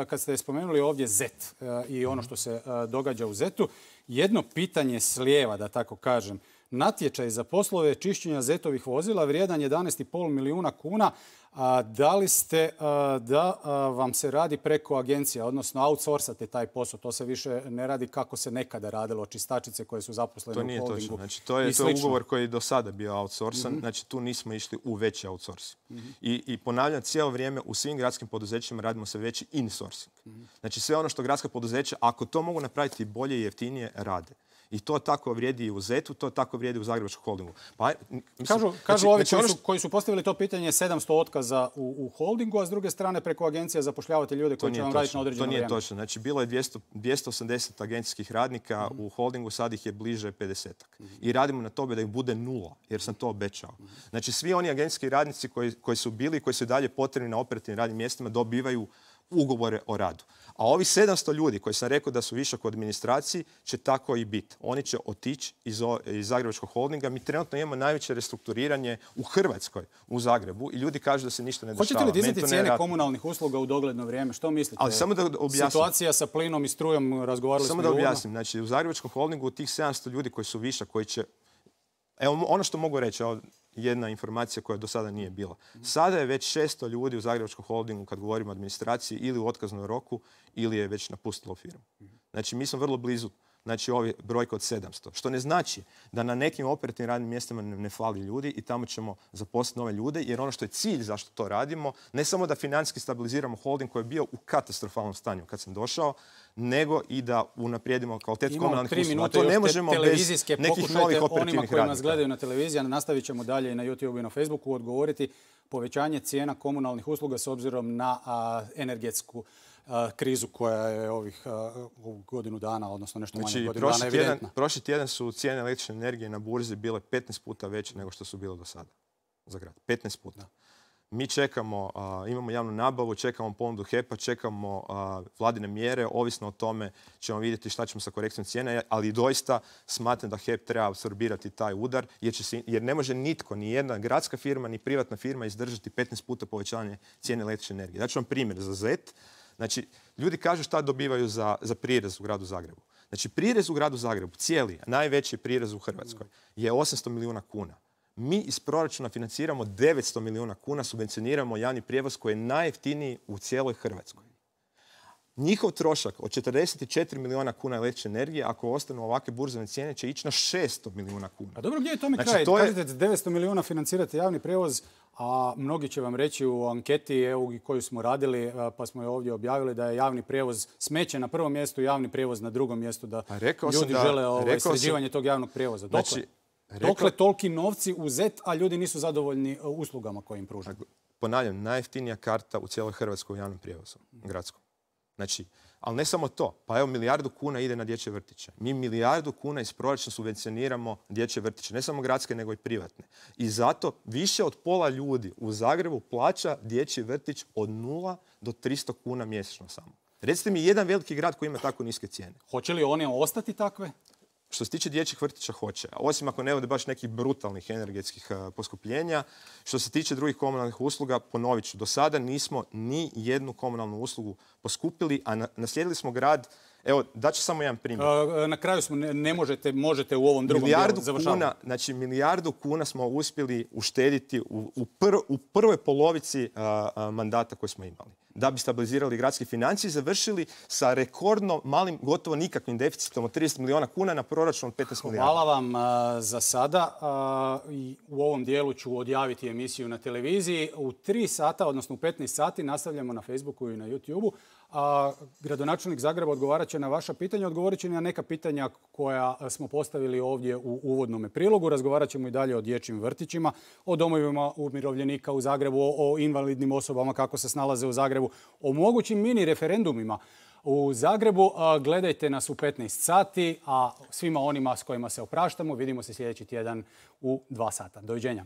kad ste spomenuli ovdje zet i ono što se događa u zetu, jedno pitanje s lijeva, da tako kažem. Natječaj za poslove čišćenja zetovih vozila vrijedan jedanaest i pol milijuna kuna. A da li ste a, da a, vam se radi preko agencija, odnosno outsourcate taj posao? To se više ne radi kako se nekada radilo, čistačice koje su zaposlene u holdingu. To nije točno. Znači, to je, to je ugovor koji je do sada bio outsourcan. Mm-hmm. Znači, tu nismo išli u veći outsourcing. Mm-hmm. I, I ponavljam, cijelo vrijeme u svim gradskim poduzećima radimo se veći insourcing. Mm-hmm. Znači, sve ono što gradska poduzeća, ako to mogu napraviti bolje i jeftinije, rade. I to tako vrijedi i u zetu, to tako vrijedi u Zagrebačkom holdingu. Pa, mislim, kažu kažu znači, ovi znači, koji, su, koji su postavili to pitanje sedamsto otkaza u, u holdingu, a s druge strane preko agencija zapošljavate ljude koji će vam raditi na određeno vrijeme. To nije točno. Znači, bilo je dvjesto osamdeset agencijskih radnika mm-hmm. u holdingu, sad ih je bliže pedesetak. Mm-hmm. I radimo na tome da ih bude nula, jer sam to obećao. Mm-hmm. Znači, svi oni agencijski radnici koji, koji su bili i koji su dalje potrebni na operativnim radnim mjestima dobivaju ugovore o radu. A ovi sedamsto ljudi koji sam rekao da su višak u administraciji će tako i biti. Oni će otići iz, iz Zagrebačkog holdinga. Mi trenutno imamo najveće restrukturiranje u Hrvatskoj, u Zagrebu, i ljudi kažu da se ništa ne dešava. Hoćete li dizati cijene komunalnih usluga u dogledno vrijeme? Što mislite? Ali samo da objasnim. Situacija sa plinom i strujom, razgovarali samo smo da objasnim. Znači, u Zagrebačkom holdingu tih sedamsto ljudi koji su višak, koji će... Evo, ono što mogu reći, jedna informacija koja do sada nije bila. Sada je već šesto ljudi u Zagrebačkom holdingu, kad govorimo o administraciji, ili u otkaznom roku, ili je već napustilo firmu. Znači, mi smo vrlo blizu, znači, ovi brojka od sedamsto. Što ne znači da na nekim operativnim radnim mjestima ne, ne fali ljudi i tamo ćemo zaposliti nove ljude, jer ono što je cilj zašto to radimo, ne samo da financijski stabiliziramo holding koji je bio u katastrofalnom stanju kad sam došao, nego i da unaprijedimo kvalitetu komunalnih usluga. To ne možemo bez nekih novih operativnih onima koji nas gledaju na televiziji, a nastavit ćemo dalje i na YouTube i na Facebooku odgovoriti povećanje cijena komunalnih usluga s obzirom na a, energetsku a, krizu koja je ovih a, godinu dana, odnosno nešto manje znači, godinu dana evidentna. Prošli tjedan su cijene električne energije na burzi bile petnaest puta veće nego što su bile do sada za grad. petnaest puta. Da. Mi čekamo, a, imamo javnu nabavu, čekamo ponudu H E P-a, čekamo a, vladine mjere, ovisno o tome ćemo vidjeti šta ćemo sa korekcijom cijene, ali doista smatram da H E P treba apsorbirati taj udar, jer, će se, jer ne može nitko, ni jedna gradska firma, ni privatna firma izdržati petnaest puta povećanje cijene električne energije. Daću vam primjer za zet. Znači, ljudi kažu šta dobivaju za, za prirez u gradu Zagrebu. Znači, prirez u gradu Zagrebu, cijeli, najveći prirez u Hrvatskoj, je osamsto milijuna kuna. Mi iz proračuna financiramo devetsto milijuna kuna, subvencioniramo javni prijevoz koji je najjeftiniji u cijeloj Hrvatskoj. Njihov trošak od četrdeset četiri milijuna kuna električne energije, ako ostanu ovakve burzovne cijene, će ići na šesto milijuna kuna. A dobro, gdje je tome znači, kraj? To je... Kažete devetsto milijuna financirate javni prijevoz, a mnogi će vam reći u anketi evo, koju smo radili, pa smo je ovdje objavili, da je javni prijevoz smeće na prvom mjestu, javni prijevoz na drugom mjestu, da ljudi da, žele ovaj, sređivanje sam... tog javnog prijevoza. Dokle? Znači, Rekla... Dokle toliki novci u zet, a ljudi nisu zadovoljni uslugama koje im pružaju? Ponavljam, najjeftinija karta u cijeloj Hrvatskoj u javnom prijevozu, gradskom. Znači, ali ne samo to. Pa evo, milijardu kuna ide na dječje vrtiće. Mi milijardu kuna iz proračuna subvencioniramo dječje vrtiće. Ne samo gradske, nego i privatne. I zato više od pola ljudi u Zagrebu plaća dječji vrtić od nula do tristo kuna mjesečno samo. Recite mi jedan veliki grad koji ima tako niske cijene. Hoće li one ostati takve? Što se tiče dječjih vrtića, hoće. Osim ako ne bude baš nekih brutalnih energetskih uh, poskupljenja. Što se tiče drugih komunalnih usluga, ponovit ću, do sada nismo ni jednu komunalnu uslugu poskupili, a na, naslijedili smo grad. Evo, daću samo jedan primjer. Na kraju smo, ne, ne možete, možete u ovom drugom milijardu dijelu kuna, znači milijardu kuna smo uspjeli uštediti u, u, pr, u prvoj polovici a, a, mandata koji smo imali. Da bi stabilizirali gradske financije i završili sa rekordno malim, gotovo nikakvim deficitom od trideset milijuna kuna na proračun od petnaest milijardi. Hvala vam a, za sada. A, i u ovom dijelu ću odjaviti emisiju na televiziji. U tri sata, odnosno u petnaest sati, nastavljamo na Facebooku i na YouTubeu. A gradonačelnik Zagreba odgovarat će na vaša pitanja, odgovorit će na neka pitanja koja smo postavili ovdje u uvodnom prilogu. Razgovarat ćemo i dalje o dječjim vrtićima, o domovima umirovljenika u Zagrebu, o invalidnim osobama kako se snalaze u Zagrebu, o mogućim mini referendumima u Zagrebu. Gledajte nas u petnaest sati, a svima onima s kojima se opraštamo vidimo se sljedeći tjedan u dva sata. Doviđenja.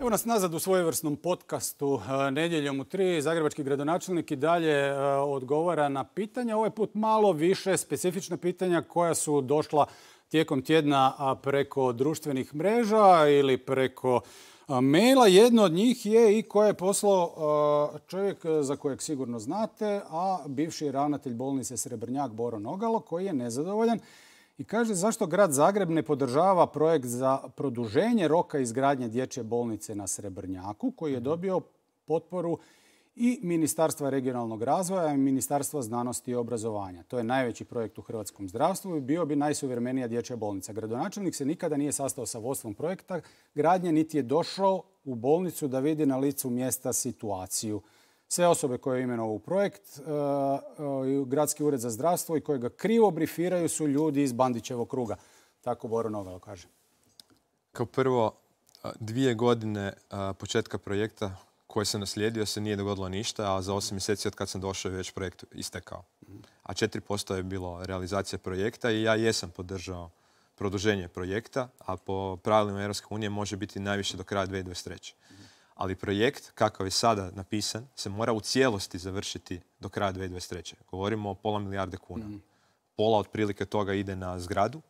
Evo nas nazad u svojevrsnom podcastu Nedjeljom u tri. Zagrebački gradonačelnik i dalje odgovara na pitanja. Ovaj put malo više specifična pitanja koja su došla tijekom tjedna preko društvenih mreža ili preko maila. Jedno od njih je i koje je poslao čovjek za kojeg sigurno znate, a bivši ravnatelj bolnice Srebrnjak Boro Nogalo, koji je nezadovoljan i kaže zašto grad Zagreb ne podržava projekt za produženje roka izgradnje dječje bolnice na Srebrnjaku, koji je dobio potporu i Ministarstva regionalnog razvoja i Ministarstva znanosti i obrazovanja. To je najveći projekt u hrvatskom zdravstvu i bio bi najsuvremenija dječja bolnica. Gradonačelnik se nikada nije sastao sa vodstvom projekta gradnje, niti je došao u bolnicu da vidi na licu mjesta situaciju. Sve osobe koje je imenovao u projekt, Gradski ured za zdravstvo i koje ga krivo brifiraju su ljudi iz Bandićevog kruga. Tako Boro Nogalo kaže. Kao prvo, dvije godine početka projekta koji se naslijedio se nije dogodilo ništa, a za osam mjeseci od kad sam došao je već projekt istekao. A četiri posto je bilo realizacija projekta i ja jesam podržao produženje projekta, a po pravilima Europske unije može biti najviše do kraja dvije tisuće dvadeset treće. Ali projekt, kakav je sada napisan, se mora u cijelosti završiti do kraja dvije tisuće dvadeset treće. Govorimo o pola milijarde kuna. Mm. Pola otprilike toga ide na zgradu,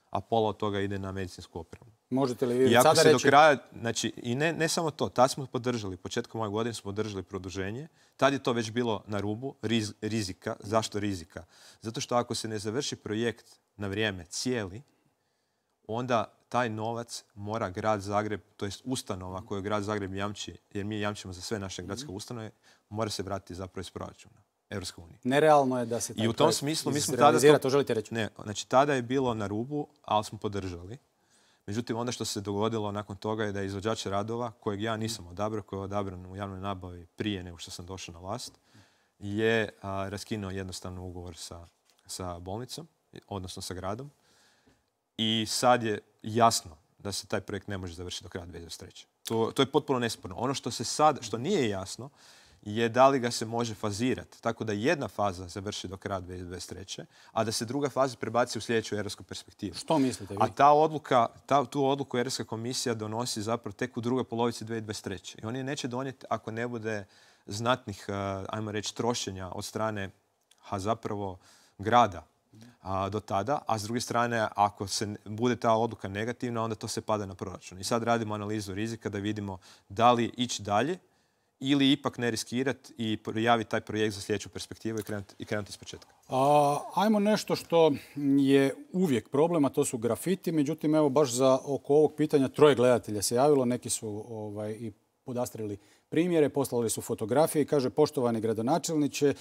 a pola od toga ide na medicinsku opremu. Možete li vi I ako sada se reći... do kraja, znači, i ne, ne samo to, tad smo podržali, početkom ove godine smo podržali produženje, tad je to već bilo na rubu riz, rizika. Zašto rizika? Zato što ako se ne završi projekt na vrijeme cijeli, onda taj novac mora grad Zagreb, to jest ustanova koju grad Zagreb jamči, jer mi jamčimo za sve naše gradske ustanove, mora se vratiti zapravo iz proračuna Europske unije. Nerealno je da se taj I u tom smislu mi smo tada to, to želite reći? Ne, znači tada je bilo na rubu, ali smo podržali. Međutim, onda što se dogodilo nakon toga je da je izvođač radova, kojeg ja nisam odabrao, koji je odabran u javnoj nabavi prije nego što sam došao na vlast, je a, raskinuo jednostavno ugovor sa, sa bolnicom, odnosno sa gradom. I sad je jasno da se taj projekt ne može završiti do kraja dvije tisuće dvadeset treće. To, to je potpuno nesporno. Ono što se sad, što nije jasno, je da li ga se može fazirati. Tako da jedna faza završi do kraja dvije tisuće dvadeset treće, a da se druga faza prebaci u sljedeću europsku perspektivu. Što mislite vi? A ta odluka, ta, tu odluku Europska komisija donosi zapravo tek u drugoj polovici dvije tisuće dvadeset treće. I oni neće donijeti ako ne bude znatnih, ajmo reći, trošenja od strane a zapravo grada a, do tada, a s druge strane, ako se bude ta odluka negativna, onda to se pada na proračun. I sad radimo analizu rizika da vidimo da li ići dalje ili ipak ne riskirati i prijaviti taj projekt za sljedeću perspektivu i krenuti, i krenuti iz početka? A, ajmo nešto što je uvijek problem, a to su grafiti. Međutim, evo baš za oko ovog pitanja troje gledatelja se javilo. Neki su ovaj, i podastrili primjere, poslali su fotografije i kaže: poštovani gradonačelniče,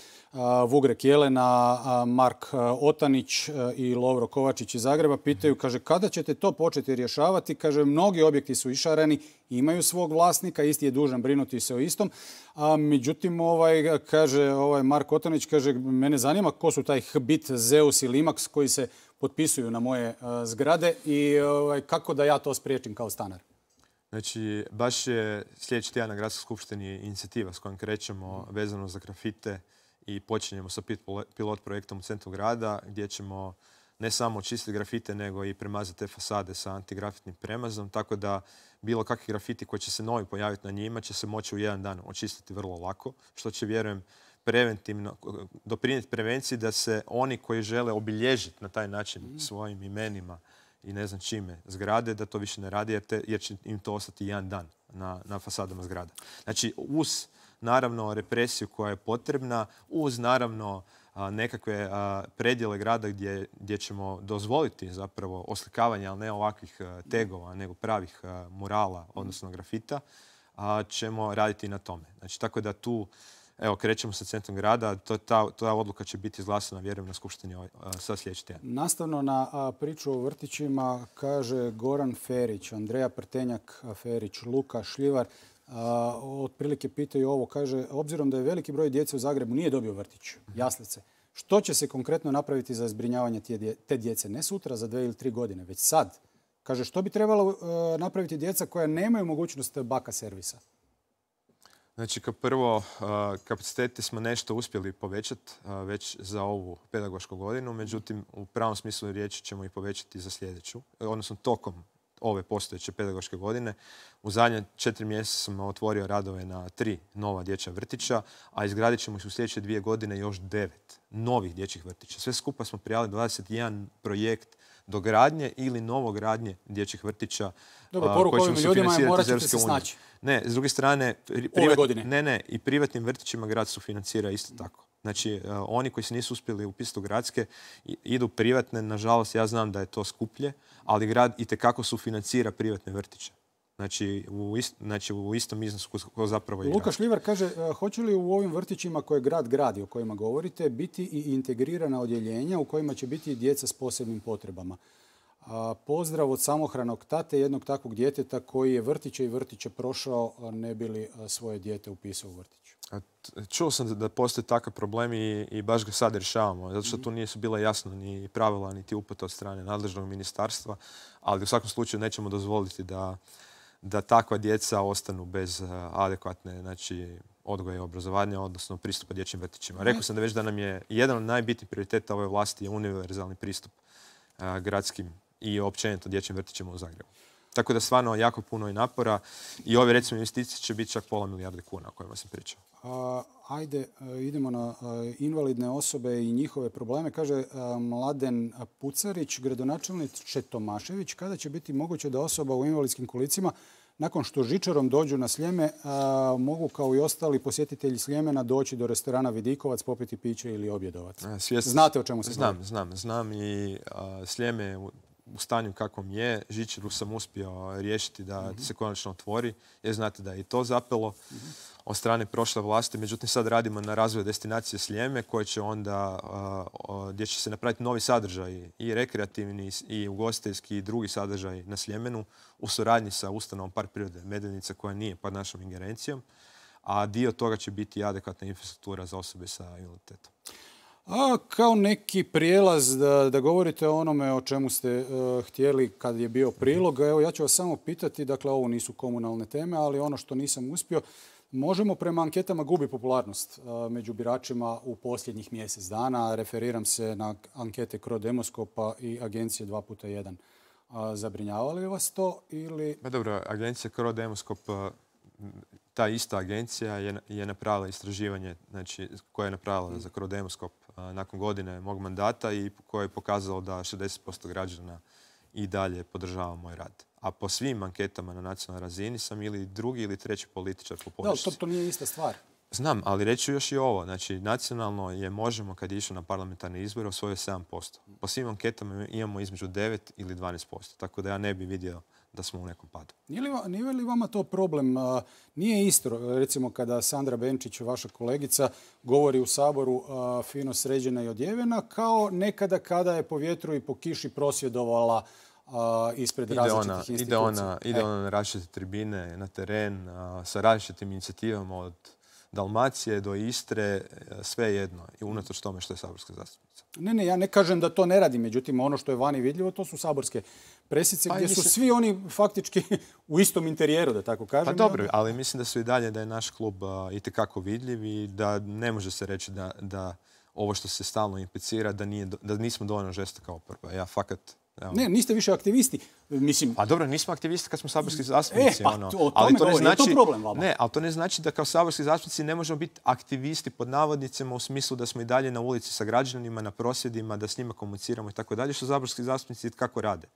Vugrek Jelena, Mark Otanić i Lovro Kovačić iz Zagreba pitaju, kaže, kada ćete to početi rješavati? Kaže, mnogi objekti su išarani, imaju svog vlasnika, isti je dužan brinuti se o istom. A međutim, ovaj, kaže ovaj Mark Otanić, kaže, mene zanima ko su taj Hbit, Zeus i Limax koji se potpisuju na moje a, zgrade i ovaj, kako da ja to spriječim kao stanar? Znači, baš je sljedeći tjedan na Gradskoj skupštini inicijativa s kojom krećemo vezano za grafite i počinjemo sa pilot projektom u centru grada gdje ćemo ne samo očistiti grafite nego i premazati te fasade sa antigrafitnim premazom, tako da bilo kakvi grafiti koji će se novi pojaviti na njima će se moći u jedan dan očistiti vrlo lako, što će, vjerujem, preventivno doprinijeti prevenciji da se oni koji žele obilježiti na taj način svojim imenima i ne znam čime zgrade, da to više ne radi jer, te, jer će im to ostati jedan dan na, na fasadama zgrada. Znači, uz naravno represiju koja je potrebna, uz naravno a, nekakve a, predjele grada gdje, gdje ćemo dozvoliti zapravo oslikavanje, ali ne ovakvih a, tegova, nego pravih a, murala, odnosno grafita, a, ćemo raditi na tome. Znači, tako da tu evo, krećemo sa centrom grada. To, ta, ta odluka će biti izglasana, vjerujem, na skupštini ovaj, sad sljedeći tjedan. Nastavno na a, priču o vrtićima, kaže Goran Ferić, Andreja Prtenjak Ferić, Luka Šljivar. A, otprilike pitaju ovo, kaže, obzirom da je veliki broj djece u Zagrebu nije dobio vrtić, jaslice, što će se konkretno napraviti za zbrinjavanje te djece? Ne sutra, za dve ili tri godine, već sad. Kaže, što bi trebalo a, napraviti djeca koja nemaju mogućnost baka servisa? Znači, kao prvo, kapacitete smo nešto uspjeli povećati već za ovu pedagošku godinu, međutim, u pravom smislu riječi ćemo ih povećati za sljedeću, odnosno tokom ove postojeće pedagoške godine. U zadnje četiri mjeseca sam otvorio radove na tri nova dječja vrtića, a izgradit ćemo ih u sljedeće dvije godine još devet novih dječjih vrtića. Sve skupa smo prijavili dvadeset jedan projekt dogradnje ili novogradnje dječjih vrtića. Dobro, poruka ovim ljudima je morat ćete se snaći. Ne, s druge strane, privat, ne, ne, i privatnim vrtićima grad sufinancira isto tako. Znači, uh, oni koji se nisu uspjeli upisati u gradske idu privatne. Nažalost, ja znam da je to skuplje, ali grad itekako sufinancira privatne vrtiće. Znači u, ist, znači, u istom iznosu ko zapravo igra. Luka Šljivar kaže, hoće li u ovim vrtićima koje grad gradi, o kojima govorite, biti i integrirana odjeljenja u kojima će biti djeca s posebnim potrebama? A, pozdrav od samohranog tate jednog takvog djeteta koji je vrtiće i vrtiće prošao, ne bi li svoje dijete upisao u vrtić. Čuo sam da postoje takav problem i, i baš ga sad rješavamo, zato što tu nisu bila jasno ni pravila, niti upute od strane nadležnog ministarstva, ali u svakom slučaju nećemo dozvoliti da, da takva djeca ostanu bez adekvatne, znači, odgoja i obrazovanja, odnosno pristupa dječjim vrtićima. Rekao sam da već da nam je jedan od najbitnijih prioriteta ove vlasti je univerzalni pristup a, gradskim i općenito dječjim vrtićima u Zagrebu. Tako da stvarno jako puno i napora i ove recimo investicije će biti čak pola milijarde kuna o kojima sam pričao. A, ajde, idemo na a, invalidne osobe i njihove probleme. Kaže a, Mladen Pucarić, gradonačelniče Tomašević, kada će biti moguće da osoba u invalidskim kolicima nakon što žičarom dođu na Sljeme a, mogu kao i ostali posjetitelji Sljemena doći do restorana Vidikovac, popiti piće ili objedovati? Svjesno, Znate o čemu se znam, govori? Znam, znam i a, Sljeme u, u stanju kakvom je. Žičaru sam uspio riješiti da mm-hmm. se konačno otvori. Jer znate da je i to zapelo mm-hmm. od strane prošle vlasti. Međutim, sad radimo na razvoju destinacije Sljeme koje će onda, uh, gdje će se napraviti novi sadržaj i rekreativni i ugostiteljski i drugi sadržaj na Sljemenu u suradnji sa ustanovom Park prirode Medvednica koja nije pod našom ingerencijom. A dio toga će biti adekvatna infrastruktura za osobe sa invaliditetom. A kao neki prijelaz da, da govorite o onome o čemu ste uh, htjeli kad je bio prilog. Evo, ja ću vas samo pitati, dakle ovo nisu komunalne teme, ali ono što nisam uspio, Možemo prema anketama gubi popularnost uh, među biračima u posljednjih mjesec dana. Referiram se na ankete Cro Demoskopa i agencije dva puta jedan. Uh, zabrinjava li vas to ili... Pa dobro, agencija Cro Demoskop, ta ista agencija je, je napravila istraživanje, znači, koje je napravila za Cro Demoskop nakon godine mog mandata i koje je pokazalo da šezdeset posto građana i dalje podržava moj rad. A po svim anketama na nacionalnoj razini sam ili drugi ili treći političar po podršci. Da, to, to nije ista stvar. Znam, ali reći ću još i ovo. Znači, nacionalno je Možemo kad je išao na parlamentarne izbore osvojio sedam posto. Po svim anketama imamo između devet ili dvanaest posto. Tako da ja ne bi vidio da smo u nekom padu. Nije li, nije li vama to problem? Nije isto, recimo, kada Sandra Benčić, vaša kolegica, govori u Saboru fino sređena i odjevena, kao nekada kada je po vjetru i po kiši prosvjedovala ispred ide različitih ona, institucija. Ide ona, ide e. ona na različite tribine, na teren, sa različitim inicijativama od Dalmacije do Istre, sve jedno. I unatoč tome što je saborska zastupnica. Ne, ne, ja ne kažem da to ne radi. Međutim, ono što je vani vidljivo, to su saborske presice, pa gdje mislim... su svi oni faktički u istom interijeru, da tako kažem. Pa dobro, ali mislim da su i dalje da je naš klub uh, itekako vidljiv i da ne može se reći da, da ovo što se stalno implicira, da, nije, da nismo dovoljno žestoka oporba. Ja fakat... Evo. Ne, niste više aktivisti. Mislim... Pa dobro, nismo aktivisti kad smo saborski zastupnici. E, pa, ono. to, o ali to ne znači, je to problem vama? Ne, ali to ne znači da kao saborski zastupnici ne možemo biti aktivisti pod navodnicima u smislu da smo i dalje na ulici sa građanima, na prosvjedima, da s njima komuniciramo i tako dalje, što saborski zastupnici kako rade.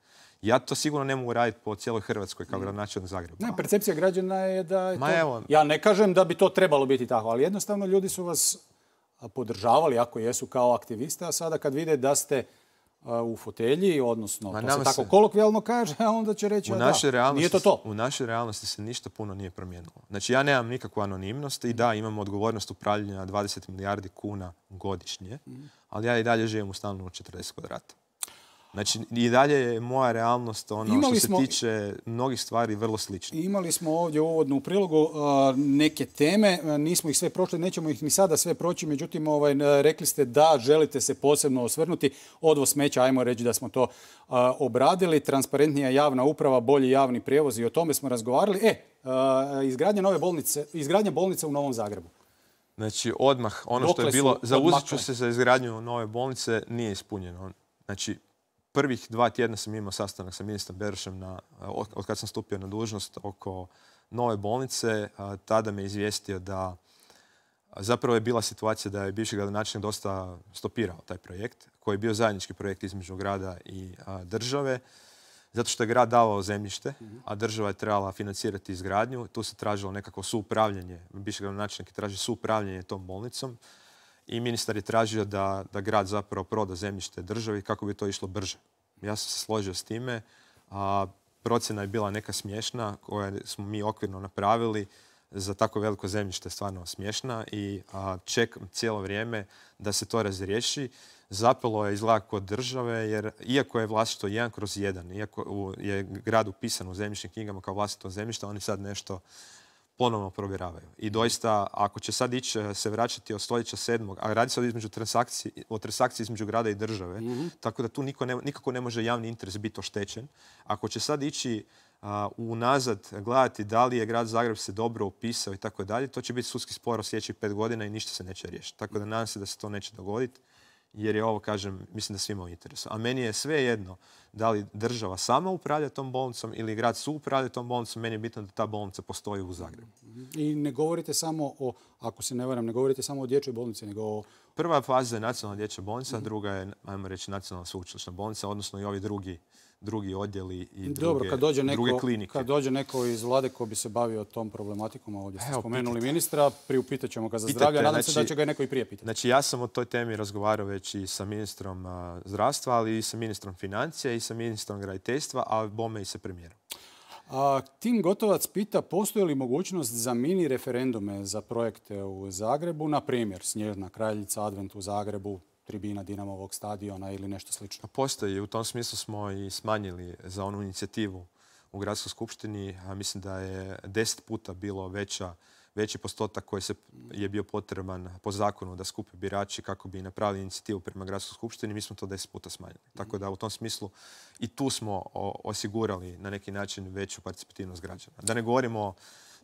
Ja to sigurno ne mogu raditi po cijeloj Hrvatskoj kao gradonačelnik Zagreba. Ne, percepcija građana je da je Ma to... Evo... Ja ne kažem da bi to trebalo biti tako, ali jednostavno ljudi su vas podržavali, ako jesu, kao aktiviste, a sada kad vide da ste u fotelji, odnosno, to se tako kolokvijalno kaže, a onda će reći, a da, nije to to. U našoj realnosti se ništa puno nije promijenilo. Znači, ja nemam nikakvu anonimnost i da, imam odgovornost upravljanja dvadeset milijardi kuna godišnje, ali ja i dalje živim u stanu od četrdeset kvadrata. Znači, i dalje je moja realnost, ono imali što se smo, tiče mnogih stvari, vrlo slično. Imali smo ovdje uvodno u prilogu uh, neke teme, uh, nismo ih sve prošli, nećemo ih ni sada sve proći, međutim, ovaj, rekli ste da želite se posebno osvrnuti. Odvoz smeća, ajmo reći da smo to uh, obradili, transparentnija javna uprava, bolji javni prijevoz i o tome smo razgovarali. E, uh, izgradnja nove bolnice, izgradnja bolnice u Novom Zagrebu. Znači, odmah, ono Dokle što je bilo, zauzet ću se za izgradnju nove bolnice, nije ispunjeno. Znači, prvih dva tjedna sam imao sastanak sa ministrom Berošem na, od kad sam stupio na dužnost oko nove bolnice. Tada me izvijestio da zapravo je bila situacija da je bivši gradonačelnik dosta stopirao taj projekt, koji je bio zajednički projekt između grada i države, zato što je grad davao zemljište, a država je trebala financirati izgradnju. Tu se tražilo nekako suupravljanje, bivši gradonačelnik je tražio suupravljanje tom bolnicom. I ministar je tražio da, da grad zapravo proda zemljište državi kako bi to išlo brže. Ja sam se složio s time. A, procjena je bila neka smiješna koju smo mi okvirno napravili. Za tako veliko zemljište je stvarno smiješna i a, čekam cijelo vrijeme da se to razriješi. Zapelo je izgleda kod države jer iako je vlasništvo jedan kroz jedan, iako je grad upisan u zemljišnim knjigama kao vlastito zemljište, oni sad nešto ponovno provjeravaju. I doista, ako će sad ići se vraćati od stoljeća sedmog, a radi se od između transakciji, o transakciji između grada i države, mm-hmm. tako da tu niko ne, nikako ne može javni interes biti oštećen. Ako će sad ići uh, unazad gledati da li je grad Zagreb se dobro upisao i tako dalje, to će biti sudski spor u sljedećih pet godina i ništa se neće riješiti. Tako da nadam se da se to neće dogoditi, jer je ovo, kažem, mislim da svima u interesu. A meni je sve jedno da li država sama upravlja tom bolnicom ili grad su upravlja tom bolnicom, meni je bitno da ta bolnica postoji u Zagrebu. I ne govorite samo o, ako se ne varam, ne govorite samo o dječjoj bolnici, nego o... Prva faza je nacionalna dječja bolnica, mm-hmm. druga je, ajmo reći, nacionalna sveučilišna bolnica, odnosno i ovi drugi, drugi odjeli i druge, Dobro, kad dođe neko, druge klinike. Kad dođe neko iz vlade ko bi se bavio tom problematikom, ovdje ste Evo, spomenuli pitate. ministra, priupitat ćemo ga za pitate, zdravlje, nadam znači, se da će ga neko i prije pitati. Znači, ja sam o toj temi razgovarao već i sa ministrom uh, zdravstva, ali i sa ministrom financija i sa ministrom graditeljstva, a bome i sa premijerom. A, Tim Gotovac pita postoji li mogućnost za mini referendume za projekte u Zagrebu, na primjer Snježna kraljica, Advent u Zagrebu, tribina Dinamovog stadiona ili nešto slično? Postoji. U tom smislu smo i smanjili za onu inicijativu u Gradskoj skupštini. A mislim da je deset puta bilo veća, veći postotak koji se je bio potreban po zakonu da skupe birači kako bi napravili inicijativu prema Gradskoj skupštini. Mi smo to deset puta smanjili. Tako da u tom smislu i tu smo osigurali na neki način veću participativnost građana. Da ne govorimo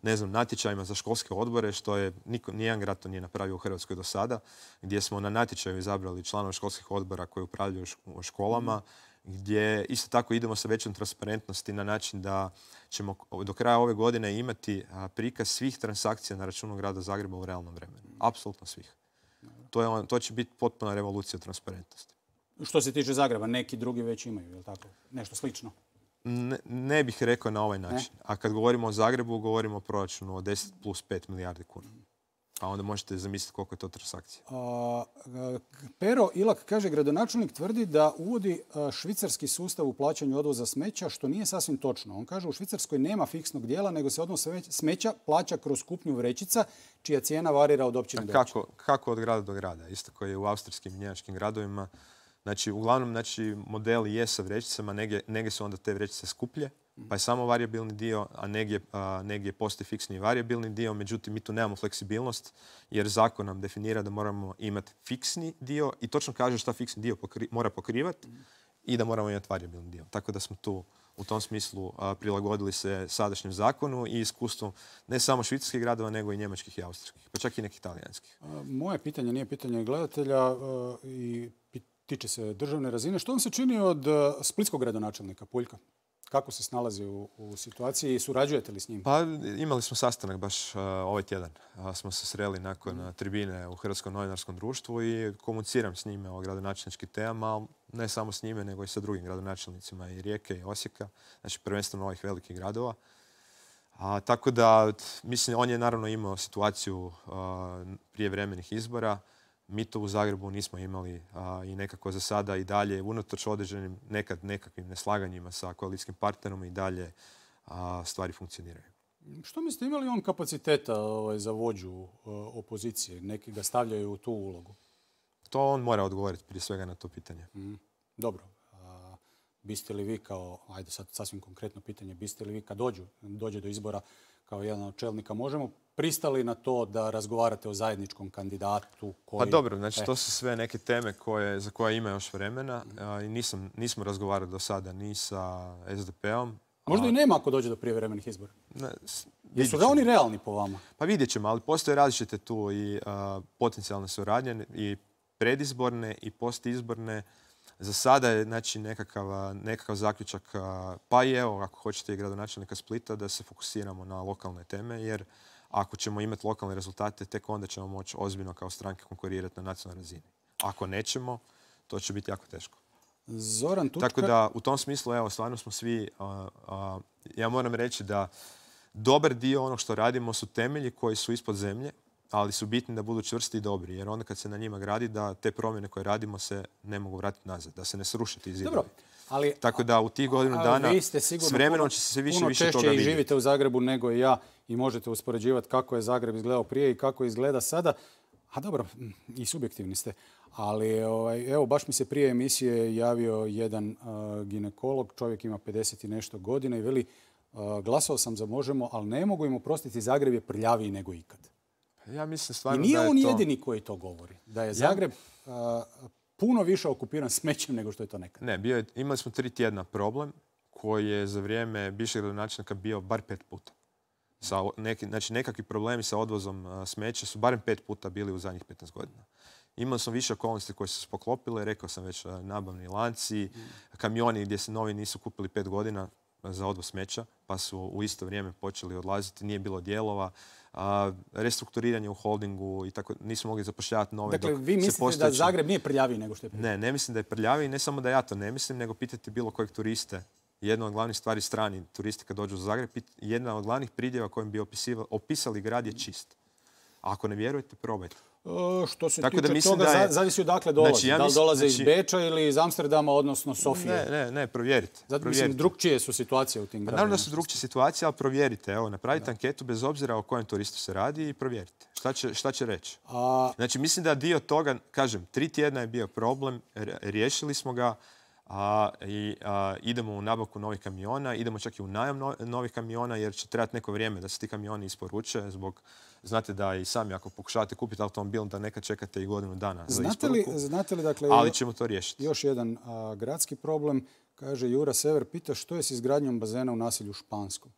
ne znam, natječajima za školske odbore, što je niko, nijedan grad to nije napravio u Hrvatskoj do sada, gdje smo na natječaju izabrali članove školskih odbora koji upravljaju u školama, gdje isto tako idemo sa većom transparentnosti na način da ćemo do kraja ove godine imati prikaz svih transakcija na računu grada Zagreba u realnom vremenu. Apsolutno svih. To, je on, to će biti potpuna revolucija transparentnosti. Što se tiče Zagreba, neki drugi već imaju, je li tako? Nešto slično? Ne, ne bih rekao na ovaj način. Ne? A kad govorimo o Zagrebu, govorimo o proračunu od deset plus pet milijardi kuna. A onda možete zamisliti koliko je to transakcija. A, Pero Ilak kaže, gradonačelnik tvrdi da uvodi švicarski sustav u plaćanju odvoza smeća, što nije sasvim točno. On kaže, u Švicarskoj nema fiksnog dijela, nego se odnos smeća plaća kroz kupnju vrećica, čija cijena varira od općine do općine. Kako, kako od grada do grada? Isto koji je u austrijskim i njemačkim gradovima. Znači, uglavnom, znači, modeli je sa vrećicama, negdje, negdje su onda te vrećice skuplje, pa je samo varijabilni dio, a negdje, a, negdje postoji fiksni i varijabilni dio. Međutim, mi tu nemamo fleksibilnost, jer zakon nam definira da moramo imati fiksni dio i točno kaže šta fiksni dio pokri, mora pokrivati i da moramo imati varijabilni dio. Tako da smo tu u tom smislu a, prilagodili se sadašnjem zakonu i iskustvu ne samo švicarskih gradova, nego i njemačkih i austrijskih, pa čak i nekih talijanskih. Moje pitanje nije pitanje gledatelja i tiče se državne razine. Što vam se čini od splitskog gradonačelnika Puljka? Kako se snalazi u, u situaciji i surađujete li s njim? Pa imali smo sastanak baš uh, ovaj tjedan. Uh, smo se sreli nakon mm. tribine u Hrvatskom novinarskom društvu i komuniciram s njime o gradonačelničkim temama, ne samo s njime, nego i sa drugim gradonačelnicima i Rijeke i Osijeka, znači prvenstveno ovih velikih gradova. A, tako da, mislim, on je naravno imao situaciju uh, prije vremenih izbora. Mi to u Zagrebu nismo imali a, i nekako za sada i dalje, unatoč određenim nekad nekakvim neslaganjima sa koalicijskim partnerom i dalje a, stvari funkcioniraju. Što mislite, ima li on kapaciteta ovaj, za vođu a, opozicije? Neki ga stavljaju u tu ulogu? To on mora odgovoriti prije svega na to pitanje. Mm, dobro. A, biste li vi kao, ajde sad sasvim konkretno pitanje, biste li vi kad dođu, dođe do izbora kao jedan od čelnika Možemo, pristali na to da razgovarate o zajedničkom kandidatu koji... Pa dobro, znači e. to su sve neke teme koje, za koje ima još vremena a, i nisam, nismo razgovarali do sada ni sa es de pe-om. Možda a... i nema ako dođe do prijevremenih izbora. Ne, Jesu ga oni realni po vama? Pa vidjet ćemo, ali postoje različite tu i a, potencijalne suradnje i predizborne i postizborne. Za sada je znači, nekakav, nekakav zaključak, pa i evo, ako hoćete i gradonačelnika Splita, da se fokusiramo na lokalne teme, jer ako ćemo imati lokalne rezultate, tek onda ćemo moći ozbiljno kao stranke konkurirati na nacionalnoj razini. Ako nećemo, to će biti jako teško. Zoran Tučkar... Tako da, u tom smislu, evo, stvarno smo svi... A, a, ja moram reći da dobar dio onog što radimo su temelji koji su ispod zemlje, ali su bitni da budu čvrsti i dobri, jer onda kad se na njima gradi, da te promjene koje radimo se ne mogu vratiti nazad, da se ne sruše ti zidovi. Dobro, ali... Tako da u tih godinu dana s vremenom će se više više toga vidjeti. Puno češće i živite u Zagrebu nego i ja i možete uspoređivati kako je Zagreb izgledao prije i kako izgleda sada. A dobro, i subjektivni ste. Ali ovaj, evo, baš mi se prije emisije javio jedan uh, ginekolog, čovjek ima pedeset i nešto godina i veli, uh, glasao sam za Možemo, ali ne mogu im oprostiti, Zagreb je prljaviji nego ikad. Ja mislim stvarno I nije da je on to... jedini koji to govori. Da je Zagreb ja... uh, puno više okupiran smećem nego što je to nekad. Ne, bio je, imali smo tri tjedna problem koji je za vrijeme bivšeg gradonačelnika bio bar pet puta. Sa neki, znači nekakvi problemi sa odvozom uh, smeća su barem pet puta bili u zadnjih petnaest godina. Imali smo više okolnosti koje su se poklopile, rekao sam već uh, nabavni lanci, mm. kamioni gdje se novi nisu kupili pet godina za odvoz smeća, pa su u isto vrijeme počeli odlaziti, nije bilo dijelova. A, restrukturiranje u holdingu i tako, nismo mogli zapošljavati nove. Dakle, vi mislite postojeći... da Zagreb nije prljaviji nego što je prljaviji? Ne, ne mislim da je prljaviji, ne samo da ja to ne mislim, nego pitajte bilo kojeg turiste. Jedna od glavnih stvari strani turisti kad dođu u Zagreb, jedna od glavnih pridjeva kojim bi opisali grad je čist. A ako ne vjerujete, probajte. E, što se tako tiče da toga, da je... zavisi odakle dolazi. Znači, ja da li dolaze znači... iz Beča ili iz Amsterdama, odnosno Sofije? Ne, ne, ne, provjerite. Zato provjerite. Mislim, drugčije su situacije u tim gradima. Naravno da su drugčije situacije, ali provjerite. Evo, napravite da. anketu bez obzira o kojem turistu se radi i provjerite. Šta će, šta će reći? A... Znači, mislim da dio toga, kažem, tri tjedna je bio problem, riješili smo ga, a, i a, idemo u nabavku novih kamiona, idemo čak i u najam no, novih kamiona, jer će trebati neko vrijeme da se ti kamioni isporuče zbog... Znate da i sami ako pokušavate kupiti automobil, da nekad čekate i godinu dana za znate isporuku. Li, znate li, dakle, ali ćemo to riješiti. Još jedan a, gradski problem. Kaže Jura Sever, pita što je s izgradnjom bazena u naselju Španskom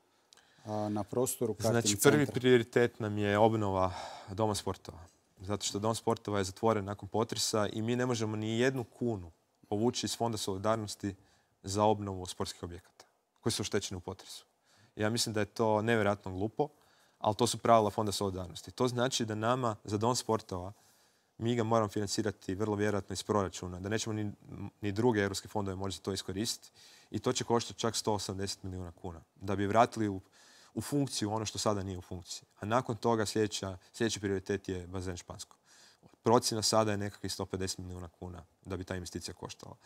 a, na prostoru karting Znači, centra. prvi prioritet nam je obnova Doma sportova. Zato što Dom sportova je zatvoren nakon potresa i mi ne možemo ni jednu kunu povući iz Fonda solidarnosti za obnovu sportskih objekata koji su oštećeni u potresu. Ja mislim da je to nevjerojatno glupo, ali to su pravila Fonda solidarnosti. To znači da nama za Dom sportova mi ga moramo financirati vrlo vjerojatno iz proračuna, da nećemo ni, ni druge europske fondove moći za to iskoristiti. I to će koštati čak sto osamdeset milijuna kuna. Da bi vratili u, u funkciju ono što sada nije u funkciji. A nakon toga sljedeća, sljedeći prioritet je bazen Špansko. Procjena sada je nekakvih sto pedeset milijuna kuna da bi ta investicija koštala.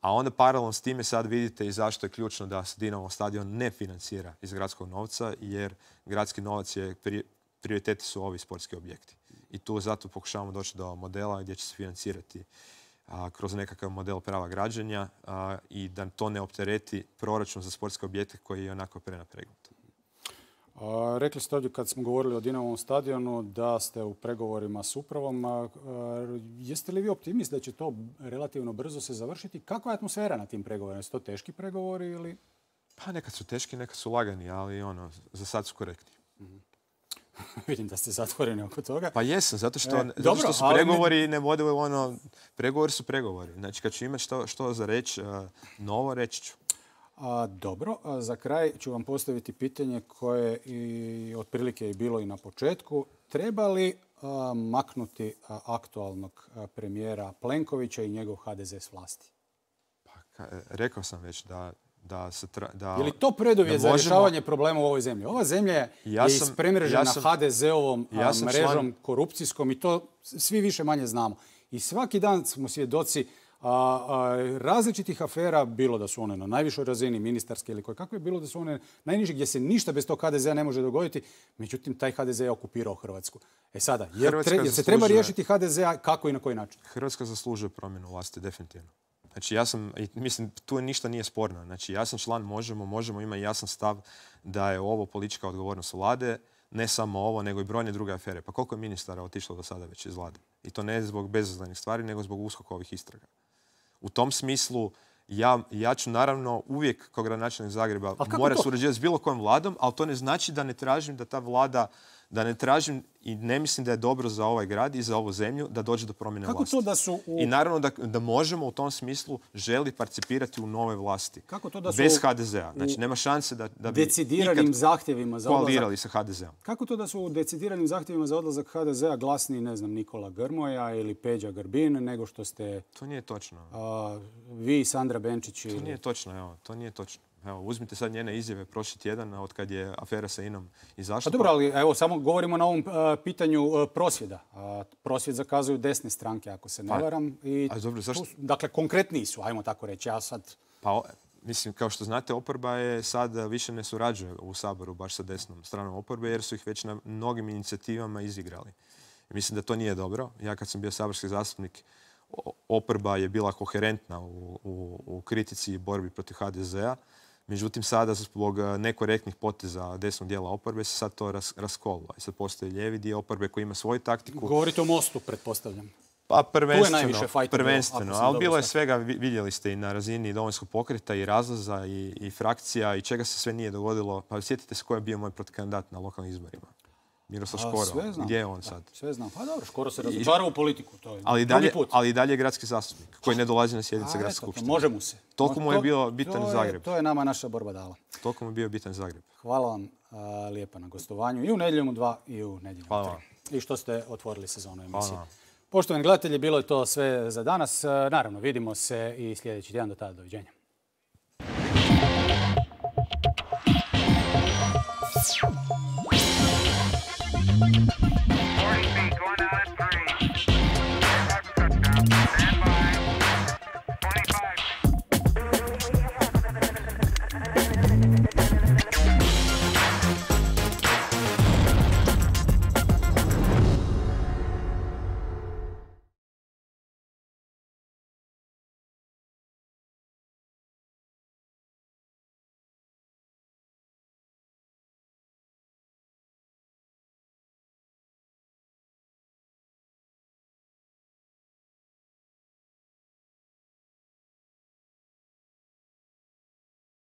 A onda paralelno s time sad vidite i zašto je ključno da se Dinamo stadion ne financira iz gradskog novca, jer gradski novac je, prioriteti su ovi sportski objekti. I tu zato pokušavamo doći do modela gdje će se financirati a, kroz nekakav model prava građenja a, i da to ne optereti proračun za sportske objekte koji je onako prenapregnut. A, rekli ste ovdje kad smo govorili o Dinamovom stadionu da ste u pregovorima s upravom. A, a, jeste li vi optimist da će to relativno brzo se završiti? Kakva je atmosfera na tim pregovorima? Su to teški pregovori ili? Pa nekad su teški, nekad su lagani, ali ono, za sad su korektni. Mm-hmm. Vidim da ste zatvoreni oko toga. Pa jesam, zato što, e, zato dobro, što su pregovori ne vode u ono... Pregovori su pregovori. Znači, kad ću imati što, što za reći, uh, novo reći ću. A, dobro, a za kraj ću vam postaviti pitanje koje i otprilike je bilo i na početku. Treba li a, maknuti a, aktualnog a, premijera Plenkovića i njegov ha de ze s vlasti? Pa, ka, rekao sam već da... Da se tra, da, je li to preduvjet za možemo... rješavanje problema u ovoj zemlji? Ova zemlja je ja sam, ispremrežena ja sam, ha de ze ovom ja sam mrežom član... korupcijskom i to svi više manje znamo. I svaki dan smo svjedoci a, a, različitih afera, bilo da su one na najvišoj razini, ministarske ili koje kakve, je bilo da su one najniže gdje se ništa bez tog ha de zea ne može dogoditi. Međutim, taj ha de ze je okupirao Hrvatsku. E sada, jer, tre, jer se zaslužuje... treba riješiti ha de zea kako i na koji način? Hrvatska zaslužuje promjenu vlasti, definitivno. Znači ja sam, mislim, tu ništa nije sporno. Znači ja sam član Možemo, Možemo ima jasan stav da je ovo politička odgovornost vlade, ne samo ovo, nego i brojne druge afere. Pa koliko je ministara otišlo do sada već iz vlade? I to ne zbog bezazlenih stvari, nego zbog uskokovih istraga. U tom smislu, ja, ja ću naravno uvijek kao gradonačelnik Zagreba mora surađivati s bilo kojom vladom, ali to ne znači da ne tražim da ta vlada, da ne tražim i ne mislim da je dobro za ovaj grad i za ovu zemlju da dođe do promjene Kako vlasti. To da su u... I naravno da, da možemo u tom smislu želi participirati u nove vlasti. Kako to da su bez ha de zea. Znači nema šanse da, da bi decidiranim zahtjevima za koalirali sa ha de zeom. Kako to da su u decidiranim zahtjevima za odlazak ha de zea glasniji, ne znam, Nikola Grmoja ili Peđa Grbin, nego što ste... To nije točno. A, vi, Sandra Benčić ili... To nije točno, evo. To nije točno. Evo, uzmite sad njene izjave prošli tjedan od kad je afera sa inom izašla. Pa dobro, ali evo, samo govorimo na ovom uh, pitanju uh, prosvjeda. Uh, prosvjed zakazuju desne stranke, ako se ne pa, varam. I a dobro, zašto? Tu, dakle, konkretniji su, ajmo tako reći. Ja sad... Pa, mislim, kao što znate, oporba je sad više ne surađuje u Saboru baš sa desnom stranom oporbe, jer su ih već na mnogim inicijativama izigrali. I mislim da to nije dobro. Ja kad sam bio saborski zastupnik, oporba je bila koherentna u, u, u kritici i borbi protiv ha de zea. Međutim, sada zbog nekorektnih poteza desnog dijela oporbe se sad to ras, raskolilo. I sad postoji lijevi dio oporbe koji ima svoju taktiku. Govorite o Mostu, pretpostavljam. Pa prvenstveno, prvenstveno. Ali bilo je svega, vidjeli ste i na razini Domovinskog pokreta i razlaza i, i frakcija i čega se sve nije dogodilo. Pa sjetite se ko je bio moj protukandidat na lokalnim izborima. Miroslav Škoro. Gdje je on sad? Da, sve znam. Pa dobro, Škoro se razočarao u politiku. To je ali, dalje, ali i dalje je gradski zastupnik koji ne dolazi na sjednice gradske skupštine. Može mu se. Toliko mu je bio bitan to Zagreb. Je, to je nama naša borba dala. Toliko mu je bio bitan Zagreb. Hvala vam a, lijepa na gostovanju i u Nedjeljom u dva i u Nedjeljom u tri. I što ste otvorili sezonu emisije. Poštovani gledatelji, bilo je to sve za danas. Naravno, vidimo se i sljedeći tjedan. Do tada, doviđenja.